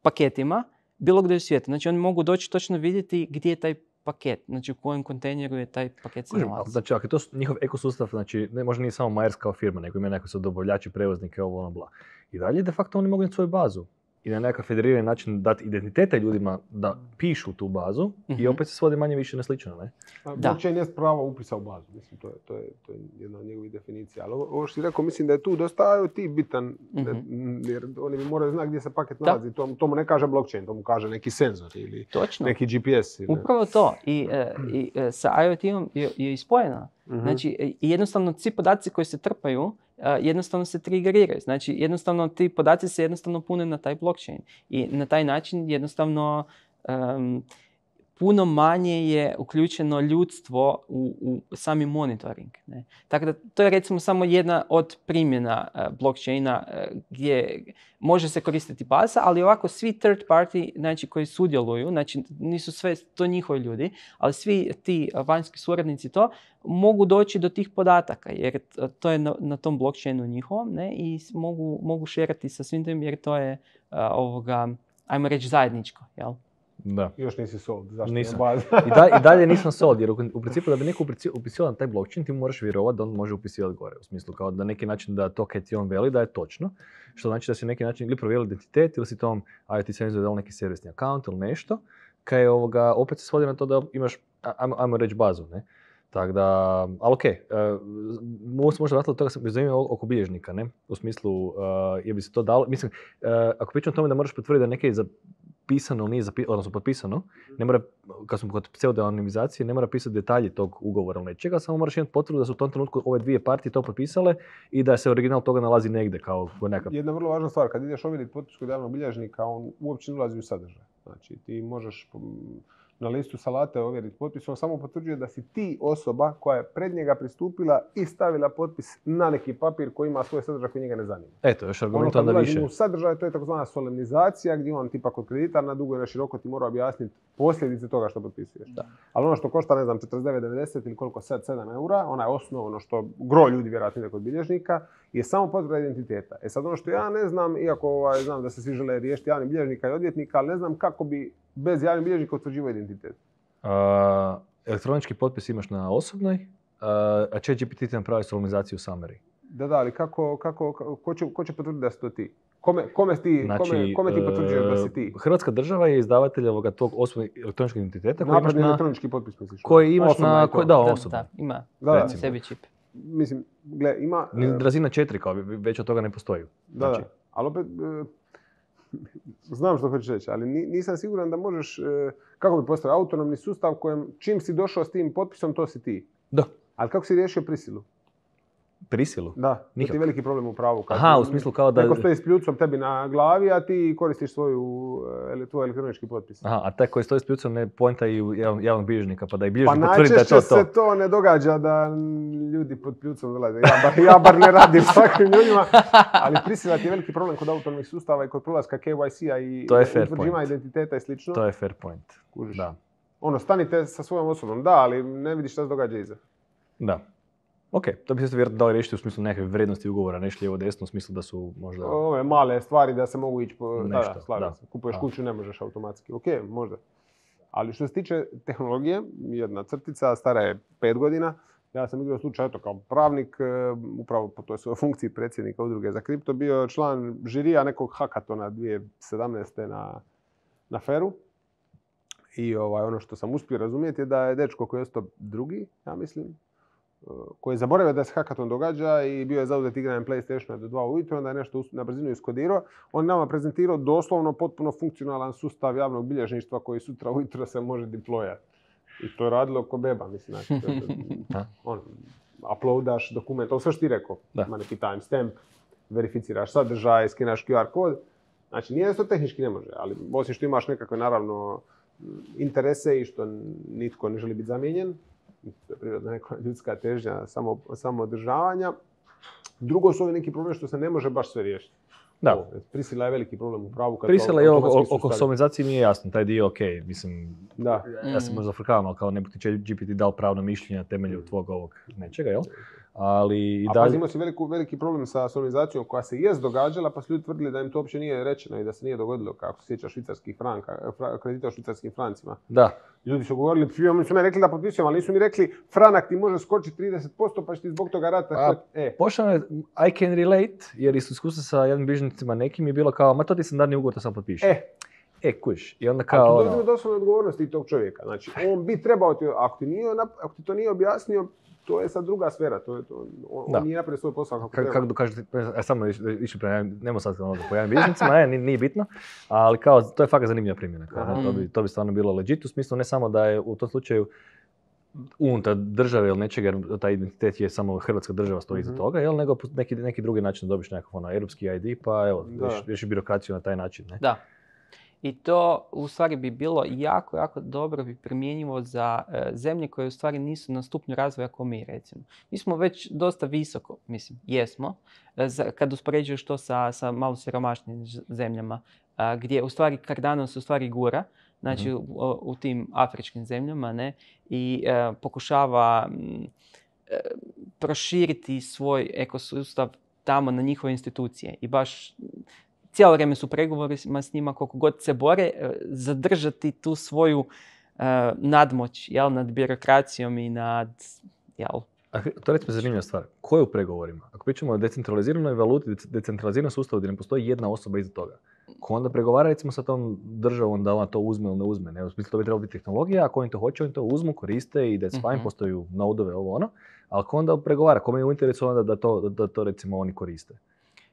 paketima bilo gdje u svijetu. Znači oni mogu doći točno vidjeti gdje je taj paket, znači u kojem kontejneru je taj paket se nalazi. Znači, ako je to njihov ekosustav, znači ne, možda nije samo Maersk kao firma, nego ima neko su dobavljači, prevoznike, ovo ono bla. I dalje de facto oni mogu imati svoju bazu i na nekakav federirani način dati identitete ljudima da pišu tu bazu mm-hmm. i opet se svodi manje više na slično, ne? Blockchain jest pravo upisa u bazu, mislim, to je, to je, to je jedna od njegovih definicija. Ali ovo što si rekao, mislim da je tu dosta I O T bitan, mm-hmm. jer oni moraju znati gdje se paket nalazi. To, to mu ne kaže blockchain, to mu kaže neki senzor ili Točno. neki G P S. Ili... Upravo to. I, uh, i uh, sa I O T-om je, je ispojena. Mm-hmm. Znači, jednostavno svi podaci koji se trpaju, uh, jednostavno se triggeriraju. Znači, jednostavno ti podaci se jednostavno pune na taj blockchain. I na taj način jednostavno um, puno manje je uključeno ljudstvo u, u sami monitoring. Ne? Tako da to je recimo samo jedna od primjena uh, blockchaina uh, gdje može se koristiti baza, ali ovako svi third party, znači koji sudjeluju, znači nisu sve to njihovi ljudi, ali svi ti uh, vanjski suradnici to mogu doći do tih podataka jer to je na, na tom blockchainu njihovom, ne? I mogu, mogu šerati sa svim tim jer to je uh, ovoga, ajmo reći zajedničko, jel? Da. Još nisi sold, zašto nisam. baza? I, da, I dalje nisam sold, jer u, u principu da bi neko upisio na taj blockchain, ti moraš vjerovati da on može upisivati gore. U smislu kao da neki način da to kaj ti on veli da je točno. Što znači da si neki način ili provjerili identitet ili si tom I O T senzor dao neki servisni account ili nešto. Kaj je ovoga, opet se svodi na to da imaš, ajmo, ajmo reći bazu, ne? Tako da, ali okej, okay, uh, možda vratiti od toga sam zanimljivo oko bilježnika, ne? U smislu, uh, je bi se to dalo, mislim, uh, ako pričam o tome da moraš potvrditi da neke je zapisano ili nije zapisano, odnosno potpisano, ne mora, kad smo kod pseudonimizacije, ne mora pisati detalji tog ugovora ili nečega, samo moraš imati potvrdu da su u tom trenutku ove dvije partije to potpisale i da se original toga nalazi negdje kao nekakav. Jedna vrlo važna stvar, kad ideš ovjeriti potpis kod javnog bilježnika, on uopće ne ulazi u sadržaj. Znači, ti možeš na listu salate ovjeriti potpis, on samo potvrđuje da si ti osoba koja je pred njega pristupila i stavila potpis na neki papir koji ima svoj sadržaj koji njega ne zanima. Eto, još argument ono, onda više. U sadržaj, to je takozvana solemnizacija gdje on tipa kod kreditar na dugo i na široko ti mora objasniti posljedice toga što potpisuješ. Da. Ali ono što košta, ne znam, četrdeset devet devedeset ili koliko sad, sedam eura, ona je osnovno što gro ljudi vjerojatno ide kod bilježnika, je samo potvrda identiteta. E sad ono što ja ne znam, iako ovaj, znam da se svi žele riješiti javnih bilježnika i odvjetnika, ali ne znam kako bi bez javnih bilježnika utvrđivao identitet. Uh, elektronički potpis imaš na osobnoj, uh, a ChatGPT ti napravi solemnizaciju summary. Da, da, ali kako, kako, ko će, ko će potvrditi da si to ti? Kome, kome, ti, znači, kome, kome ti potvrđuješ da si ti? Hrvatska država je izdavatelj ovoga tog osobnog elektroničkog identiteta koji imaš na... elektronički potpis, misliš? Koji imaš na... Koji, da, osobno. Da, ima. Da, da. Na sebi čip. Mislim, gle, ima... Razina četiri, kao već od toga ne postoji. Da, znači. Da. Ali opet... Znam što hoćeš reći, ali nisam siguran da možeš, kako bi postavio, autonomni sustav kojem čim si došao s tim potpisom, to si ti. Da. Ali kako si riješio prisilu? Prisilu? Da, to ti je veliki problem u pravu. Kad Aha, u smislu kao da... Neko stoji s pljucom tebi na glavi, a ti koristiš svoju, tvoj elektronički potpis. Aha, a taj koji stoji s pljucom ne pointa i u javnog bilježnika, pa da i bilježnik potvrdi da je to to. Pa najčešće se to ne događa da ljudi pod pljucom dolaze. Ja bar, ja bar ne radim s takvim ljudima, ali prisila ti je veliki problem kod autonomnih sustava i kod prolaska K Y C-a i utvrđivanja identiteta i slično. To je fair point. Kužiš. Da. Ono, stanite sa svojom osobom, da, ali ne vidiš šta se događa iza. Da. Ok, to bi se vjerojatno dalo riješiti u smislu neke vrijednosti ugovora, nešto lijevo desno, u smislu da su možda... Ove male stvari da se mogu ići po... Nešto, da, da, da. Kupuješ A. kuću, ne možeš automatski. Ok, možda. Ali što se tiče tehnologije, jedna crtica, stara je pet godina. Ja sam igrao slučaj, eto, kao pravnik, upravo po toj svojoj funkciji predsjednika udruge za kripto, bio član žirija nekog hakatona dvije tisuće sedamnaeste. na, na Feru. I ovaj, ono što sam uspio razumjeti je da je dečko koji je ostao drugi, ja mislim, koji je zaboravio da se hakaton događa i bio je zauzet igranjem PlayStationa do dva ujutro, onda je nešto na brzinu iskodirao. On je nama prezentirao doslovno potpuno funkcionalan sustav javnog bilježništva koji sutra ujutro se može deployati. I to je radilo ko beba, mislim. Znači, on, uploadaš dokument, ovo sve što ti rekao, ima neki timestamp, verificiraš sadržaj, skinaš Q R kod. Znači, nije to tehnički ne može, ali osim što imaš nekakve, naravno, interese i što nitko ne želi biti zamijenjen, to je prirodna neka ljudska težnja samo, samo održavanja. Drugo su ovi neki problem što se ne može baš sve riješiti. Da. O, prisila je veliki problem u pravu. Kad prisila je oko, oko somizacije nije jasno, taj dio ok, mislim, da. Ja se možda frkavam, ali kao ne bi ti G P T dao pravno mišljenje na temelju tvog ovog nečega, jel? Ali i A dalje... pazi, imao si veliku, veliki problem sa somizacijom koja se jest događala, pa su ljudi tvrdili da im to uopće nije rečeno i da se nije dogodilo, kako se sjeća švicarskih franka, kredita u švicarskim francima. Da. Ljudi su govorili, oni su mi rekli da potpisujem, ali nisu mi rekli franak ti može skočiti trideset posto pa će ti zbog toga rata... A, e. Pošao je, I can relate, jer iz iskustva sa jednim bilježnicima nekim je bilo kao, ma to ti sam dani ugovor, to sam potpišao. E. E, kuš. I onda kao... A tu dođemo do osnovne odgovornosti tog čovjeka. Znači, on bi trebao ti, ako ti, nije, ako ti to nije objasnio, to je sad druga sfera, to je to, on, on nije napravio svoj posao kako treba. Kako kažete, ja samo išli prema, nemo sad ono po javnim bilježnicima, ne, nije, nije bitno, ali kao, to je fakat zanimljiva primjena. Kao, ne, to, bi, to bi stvarno bilo legit, u smislu ne samo da je u tom slučaju unutar države ili nečega, jer taj identitet je samo Hrvatska država stoji iza mm-hmm. toga, jel, nego neki, neki drugi način da dobiš nekakav ono, europski I D, pa evo, riješi birokraciju na taj način. Ne? Da. I to u stvari bi bilo jako, jako dobro bi primjenjivo za e, zemlje koje u stvari nisu na stupnju razvoja kao mi, recimo. Mi smo već dosta visoko, mislim, jesmo, e, za, kad uspoređuješ to sa, sa malo siromašnim zemljama, a, gdje u stvari Cardano se u stvari gura, znači mm-hmm. u, u tim afričkim zemljama, ne, i e, pokušava m, e, proširiti svoj ekosustav tamo na njihove institucije i baš cijelo vrijeme su pregovorima s njima, koliko god se bore, zadržati tu svoju uh, nadmoć, jel, nad birokracijom i nad, jel. A to je recimo zanimljiva stvar. Ko je u pregovorima? Ako pričamo o decentraliziranoj valuti, decentraliziranom sustavu gdje ne postoji jedna osoba iza toga, ko onda pregovara recimo sa tom državom da ona to uzme ili ne uzme? Ne? U smislu to bi trebalo biti tehnologija, ako oni to hoće, oni to uzmu, koriste i that's fine, mm-hmm. postaju nodove, ovo ono. Ali ko onda pregovara? Kome je u interesu onda da to, da to recimo oni koriste?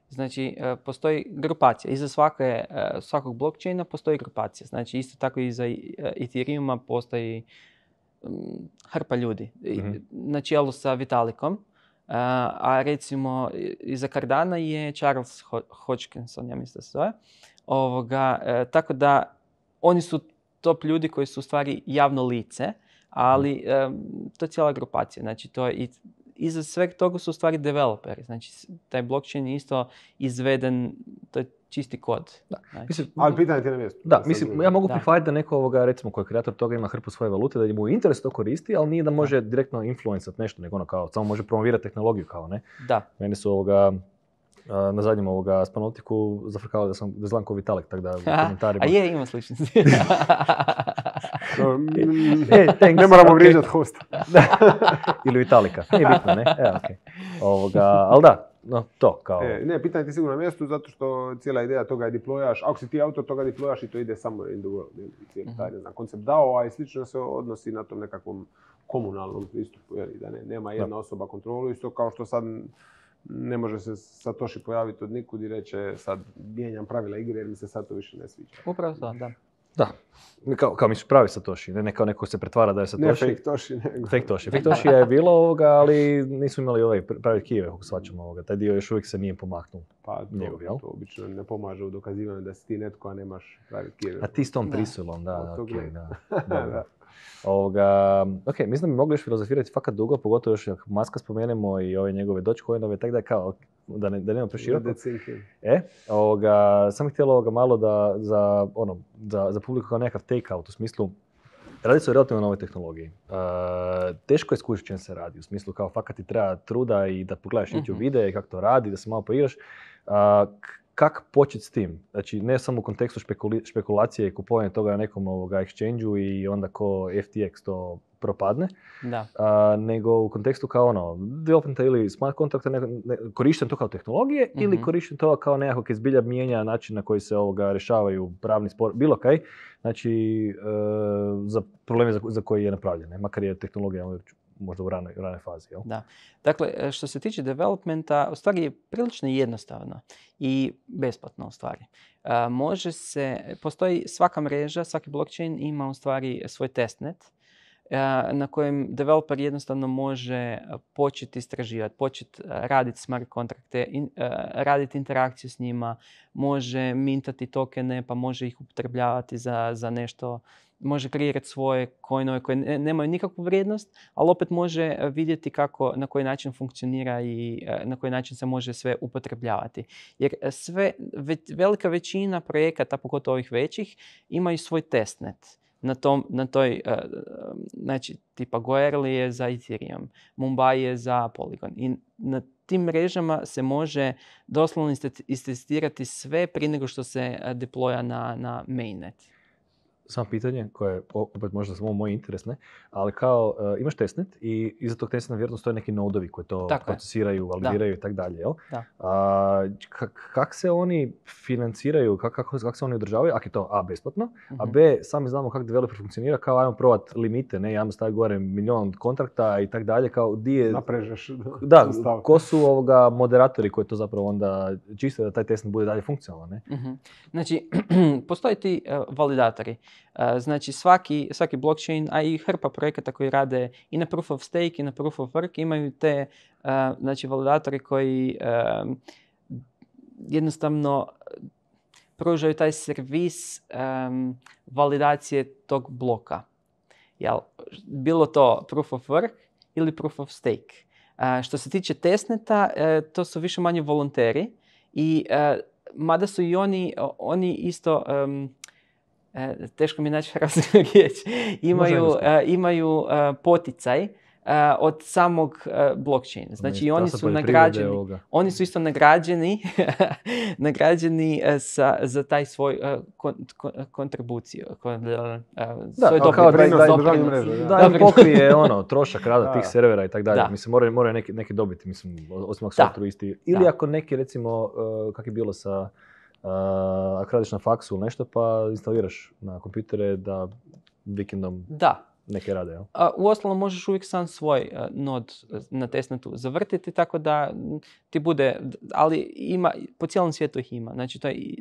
Znači, postoji grupacija. Iza svake, svakog blockchaina postoji grupacija. Znači, isto tako i za Ethereuma postoji hrpa ljudi. Mm-hmm. Na čelu sa Vitalikom. A recimo, iza Cardana je Charles Hodgkinson, ja mislim da se zove. Ovoga, tako da, oni su top ljudi koji su u stvari javno lice, ali to je cijela grupacija. Znači, to je i iza sveg toga su u stvari developeri. Znači, taj blockchain je isto izveden, to je čisti kod. Da. Znači, mislim, ali pitanje ti na mjestu. Da, mislim, ja mogu prihvatiti da neko ovoga, recimo, koji je kreator toga ima hrpu svoje valute, da mu interes to koristi, ali nije da može da. direktno influencati nešto, nego ono kao, samo može promovirati tehnologiju kao, ne? Da. Meni su ovoga, na zadnjem ovoga Spanoptiku zafrkavali da sam zlan ko Vitalik, tako da u komentarima... A je, ima sličnosti. No, e, ne moramo vrijeđati hosta. Ili Vitalika. Nije bitno, ne? E, okay. Ovoga, ali da, no, to kao... E, ne, pitanje ti sigurno na mjestu, zato što cijela ideja toga je deployaš. Ako si ti autor toga deployaš i to ide samo in the world. Cijeli taj, ne znam, koncept dao, a i slično se odnosi na tom nekakvom komunalnom pristupu. Jer, da ne, nema jedna da. osoba kontrolu. Isto kao što sad ne može se Satoshi pojaviti od nikud i reće sad mijenjam pravila igre jer mi se sad to više ne sviđa. Upravo to, da. Da, kao, kao misliš pravi Satoshi, ne kao neko se pretvara da je Satoshi. Ne fake Toshi, nego. Fake Toshi. Fake Toshi je bilo ovoga, ali nisu imali ovaj pravi kijeve, kako svačamo ovoga. Taj dio još uvijek se nije pomaknuo. Pa to, njegov, jel? To obično ne pomaže u dokazivanju da si ti netko, a nemaš pravi kijeve. A ti s tom prisilom, da, da, okay, da. da. Ovoga, ok, mislim da bi mogli još filozofirati fakat dugo, pogotovo još ako Muska spomenemo i ove njegove Dogecoinove, tako da je kao, da ne, da nema preširoko. E, ovoga, sam htjela ovoga malo da za, ono, za, za publiku kao nekakav take-out, u smislu, radi se o relativno novoj tehnologiji. Uh, teško je skušati čem se radi, u smislu kao fakat ti treba truda i da pogledaš YouTube mm-hmm. videe i kako to radi, da se malo poigraš. Uh, kak početi s tim? Znači, ne samo u kontekstu špekuli, špekulacije i kupovanja toga na nekom ovoga exchange-u i onda ko F T X to propadne, Da. a, nego u kontekstu kao ono, developmenta ili smart kontrakta, ne, ne, korišten to kao tehnologije Mhm. ili korišten to kao nekako koji zbilja mijenja način na koji se ovoga rješavaju pravni spor, bilo kaj, znači e, za probleme za, za koje je napravljene, makar je tehnologija možda u ranoj, ranoj fazi. Jel? Da. Dakle, što se tiče developmenta, u stvari je prilično jednostavno i besplatno u stvari. Uh, može se, postoji svaka mreža, svaki blockchain ima u stvari svoj testnet uh, na kojem developer jednostavno može početi istraživati, početi raditi smart kontrakte, in, uh, raditi interakciju s njima, može mintati tokene pa može ih upotrebljavati za, za nešto, može kreirati svoje coinove koje ne, nemaju nikakvu vrijednost, ali opet može vidjeti kako, na koji način funkcionira i na koji način se može sve upotrebljavati. Jer sve, ve, velika većina projekata, pogotovo ovih većih, imaju svoj testnet. Na, tom, na toj, uh, znači, tipa Goerli je za Ethereum, Mumbai je za Polygon. I na tim mrežama se može doslovno istestirati sve prije nego što se deploya na, na mainnet. Samo pitanje koje je opet možda samo moj interes, ne? Ali kao uh, imaš testnet i iza tog testneta vjerojatno stoje neki nodovi koji to tako procesiraju, validiraju i tako dalje, jel? Da. A, kak, kak se oni financiraju, kak, kako, kako se oni održavaju, ako je to A, besplatno, uh-huh. a B, sami znamo kako developer funkcionira, kao ajmo provat limite, ne, ajmo staviti gore milion kontrakta i tako dalje, kao di je... Naprežeš. Da, ko su ovoga moderatori koji to zapravo onda čiste da taj testnet bude dalje funkcionalan, ne? Uh-huh. Znači, postoje ti uh, validatori. Uh, znači svaki, svaki blockchain, a i hrpa projekata koji rade i na proof of stake i na proof of work imaju te uh, znači validatori koji uh, jednostavno pružaju taj servis um, validacije tog bloka. Jel, bilo to proof of work ili proof of stake. Uh, što se tiče testneta, uh, to su više manje volonteri i uh, mada su i oni, oni isto um, E, teško mi je naći hrvatsku riječ, imaju, uh, imaju uh, poticaj uh, od samog uh, blockchaina. Znači, oni su nagrađeni, oni su isto nagrađeni, nagrađeni uh, sa, za taj svoj uh, kon, kon, kontribuciju, kon, uh, da, svoj kao da, da, da, da, da pokrije ono, trošak rada tih servera i tako dalje. Da. Mislim, moraju, moraju neki, neki dobiti, mislim, osim ako su altruisti. Ili da. Ako neki, recimo, uh, kak je bilo sa Uh, ako radiš na faksu ili nešto, pa instaliraš na kompjutere da vikendom da. neke rade. Jel? Uh, uostalom možeš uvijek sam svoj uh, nod na testnetu zavrtiti, tako da ti bude, ali ima, po cijelom svijetu ih ima. Znači, to je,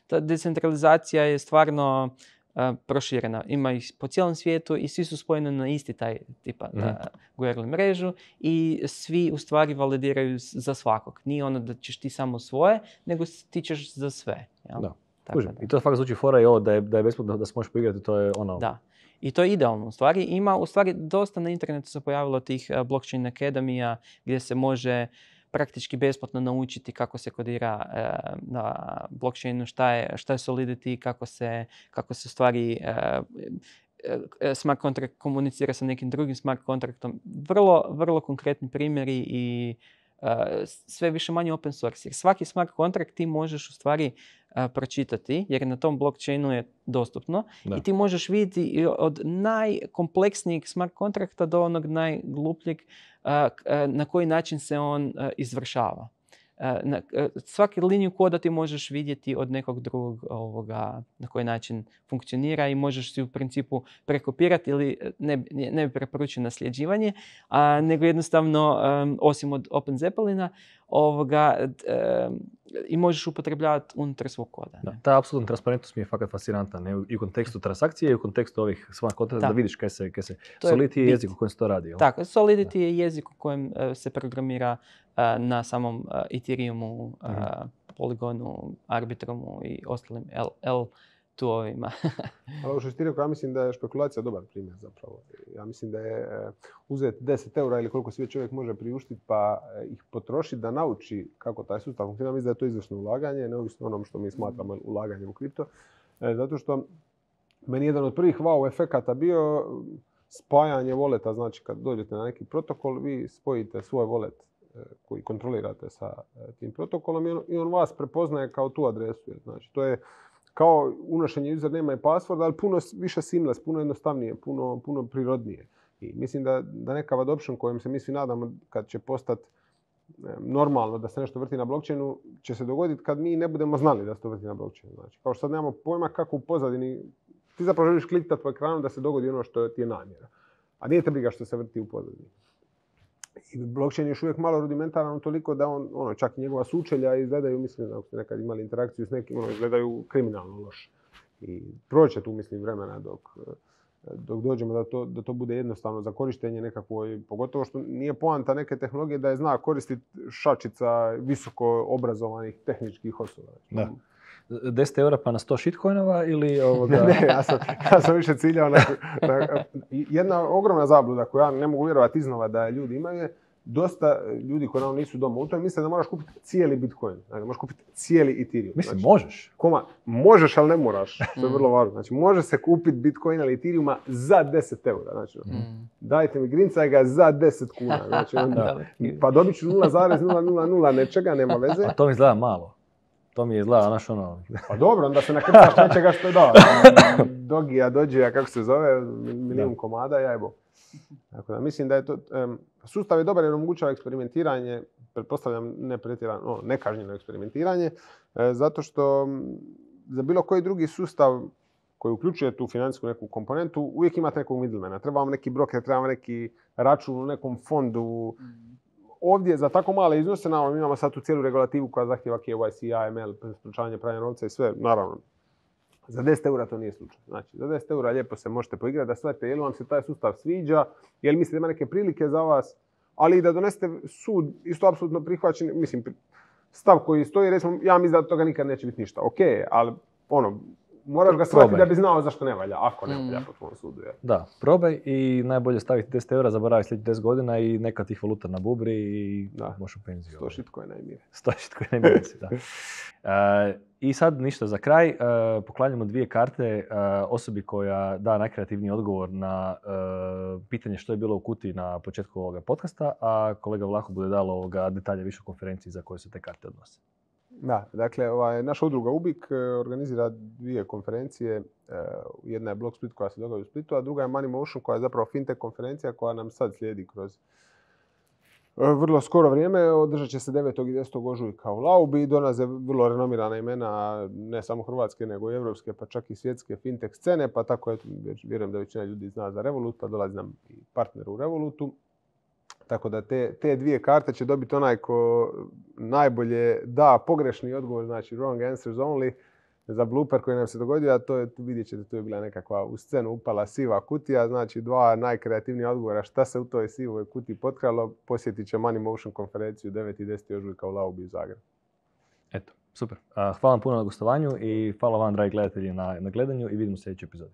ta decentralizacija je stvarno uh, proširena. Ima ih po cijelom svijetu i svi su spojeni na isti taj tipa mm-hmm. uh, Goerli mrežu i svi u stvari validiraju za svakog. Nije ono da ćeš ti samo svoje, nego ti ćeš za sve. Jel? Da. Tako da. I to fakat zvuči fora i ovo da je, da je besplatno, da se možeš poigrati, to je ono... Da. I to je idealno u stvari. Ima u stvari dosta na internetu se pojavilo tih uh, blockchain akademija gdje se može praktički besplatno naučiti kako se kodira uh, na blockchainu, šta je, šta je Solidity, kako se, kako se u stvari uh, smart contract komunicira sa nekim drugim smart kontraktom. Vrlo, vrlo konkretni primjeri i uh, sve više manje open source. Jer svaki smart kontrakt ti možeš u stvari uh, pročitati, jer na tom blockchainu je dostupno. Da. I ti možeš vidjeti od najkompleksnijeg smart kontrakta do onog najglupljeg uh, na koji način se on uh, izvršava. Na, svaki liniju koda ti možeš vidjeti od nekog drugog ovoga, na koji način funkcionira i možeš si u principu prekopirati ili ne, ne bi preporučio nasljeđivanje, a, nego jednostavno um, osim od Open Zeppelina ovoga, um, i možeš upotrebljavati unutar svog koda. Da, ta apsolutna transparentnost mi je fakat fascinantna, ne? I u kontekstu transakcije i u kontekstu ovih smart kontrakta da vidiš kaj se, kaj se... Solidity je jezik u kojem se to radi. Jel? Tako, Solidity da. je jezik u kojem uh, se programira uh, na samom uh, Ethereumu, uh, mm-hmm. Polygonu, Arbitromu i ostalim L, L two-ovima. Ali ovo što si ti rekao, ja mislim da je špekulacija dobar primjer zapravo. Ja mislim da je uzeti deset eura ili koliko sve čovjek može priuštiti pa ih potrošiti da nauči kako taj sustav funkcionira. Mislim da je to izvršno ulaganje, neovisno onom što mi smatramo ulaganjem u kripto. Zato što meni jedan od prvih wow efekata bio spajanje voleta. Znači kad dođete na neki protokol, vi spojite svoj volet koji kontrolirate sa tim protokolom i on, i on vas prepoznaje kao tu adresu. Znači, to je kao unošenje username i password, ali puno više seamless, puno jednostavnije, puno, puno prirodnije. I mislim da, da neka adoption kojom se mi svi nadamo kad će postati normalno da se nešto vrti na blockchainu, će se dogoditi kad mi ne budemo znali da se to vrti na blockchainu. Znači, kao što sad nemamo pojma kako u pozadini, ti zapravo želiš klikati po ekranu da se dogodi ono što ti je namjera. A nije te briga što se vrti u pozadini. I blockchain je još uvijek malo rudimentaran toliko da on, ono, čak i njegova sučelja izgledaju, mislim, ako ste nekad imali interakciju s nekim, ono, izgledaju kriminalno loše. I proće tu, mislim, vremena dok, dok dođemo da to, da to bude jednostavno za korištenje nekakvo, pogotovo što nije poanta neke tehnologije da je zna koristiti šačica visoko obrazovanih tehničkih osoba. Da. deset eura pa na sto shitcoinova ili ovoga... ne, ja sam, ja sam više ciljao na, na... Jedna ogromna zabluda koju ja ne mogu vjerovati iznova da ljudi imaju je dosta ljudi koji nam nisu doma u tome misle da moraš kupiti cijeli Bitcoin. Znači, možeš kupiti cijeli Ethereum. Mislim, znači, možeš. Koma, možeš, ali ne moraš. To je vrlo važno. Znači, može se kupiti Bitcoin ili Ethereuma za deset eura. Znači, mm. dajte mi grincaj ga za deset kuna. Znači, onda, pa dobit ću nula zarez nula nula nula nečega, nema veze. A to mi izgleda malo. To mi je izgleda, znaš ono... Pa dobro, onda se nakrcaš nečega što je dao. Dogija, dođija, kako se zove, milijun komada, jajbo. Tako da, mislim da je to... Um, sustav je dobar jer omogućava eksperimentiranje, pretpostavljam ne pretjerano, no, nekažnjeno eksperimentiranje, e, zato što m, za bilo koji drugi sustav koji uključuje tu financijsku neku komponentu, uvijek imate nekog middlemana. Treba vam neki broker, treba vam neki račun u nekom fondu. Ovdje za tako male iznose, naravno, imamo sad tu cijelu regulativu koja zahtjeva K Y C, A M L, sprečavanje pranja novca i sve, naravno. Za deset eura to nije slučaj. Znači, za deset eura lijepo se možete poigrati da shvatite je li vam se taj sustav sviđa, je li mislite da ima neke prilike za vas, ali i da donesete sud isto apsolutno prihvaćen, mislim, stav koji stoji, recimo, ja mislim da od toga nikad neće biti ništa. Ok, ali ono, moraš ga shvatiti da bi znao zašto ne valja, ako ne valja po tvom sudu. Je. Da, probaj i najbolje staviti deset eura, zaboravi sljedeći deset godina i neka tih valuta na bubri i da. Možeš u penziju. sto shitcoina i mire. sto shitcoina i mire, da. Uh, I sad ništa za kraj, uh, poklanjamo dvije karte uh, osobi koja da najkreativniji odgovor na uh, pitanje što je bilo u kutiji na početku ovoga podcasta, a kolega Vlaho bude dalo ovoga detalje više o konferenciji za koje se te karte odnose. Da, dakle, ovaj, naša udruga U B I K organizira dvije konferencije. Jedna je Block Split koja se događa u Splitu, a druga je Money Motion koja je zapravo fintech konferencija koja nam sad slijedi kroz vrlo skoro vrijeme. Održat će se devetog i desetog ožujka u Laubi. Dolaze vrlo renomirana imena, ne samo hrvatske, nego i evropske, pa čak i svjetske fintech scene. Pa tako, eto, vjerujem da većina ljudi zna za Revolut, a dolazi nam i partner u Revolutu. Tako da te, te dvije karte će dobiti onaj ko najbolje da pogrešni odgovor, znači wrong answers only, za blooper koji nam se dogodio, a to je, vidjet ćete, to je bila nekakva u scenu upala siva kutija, znači dva najkreativnija odgovora šta se u toj sivoj kutiji potkralo, posjetit će Money Motion konferenciju devetog i desetog ožujka u Laubi u Zagrebu. Eto, super. Hvala vam puno na gostovanju i hvala vam, dragi gledatelji, na, na gledanju i vidimo u sljedećoj epizodi.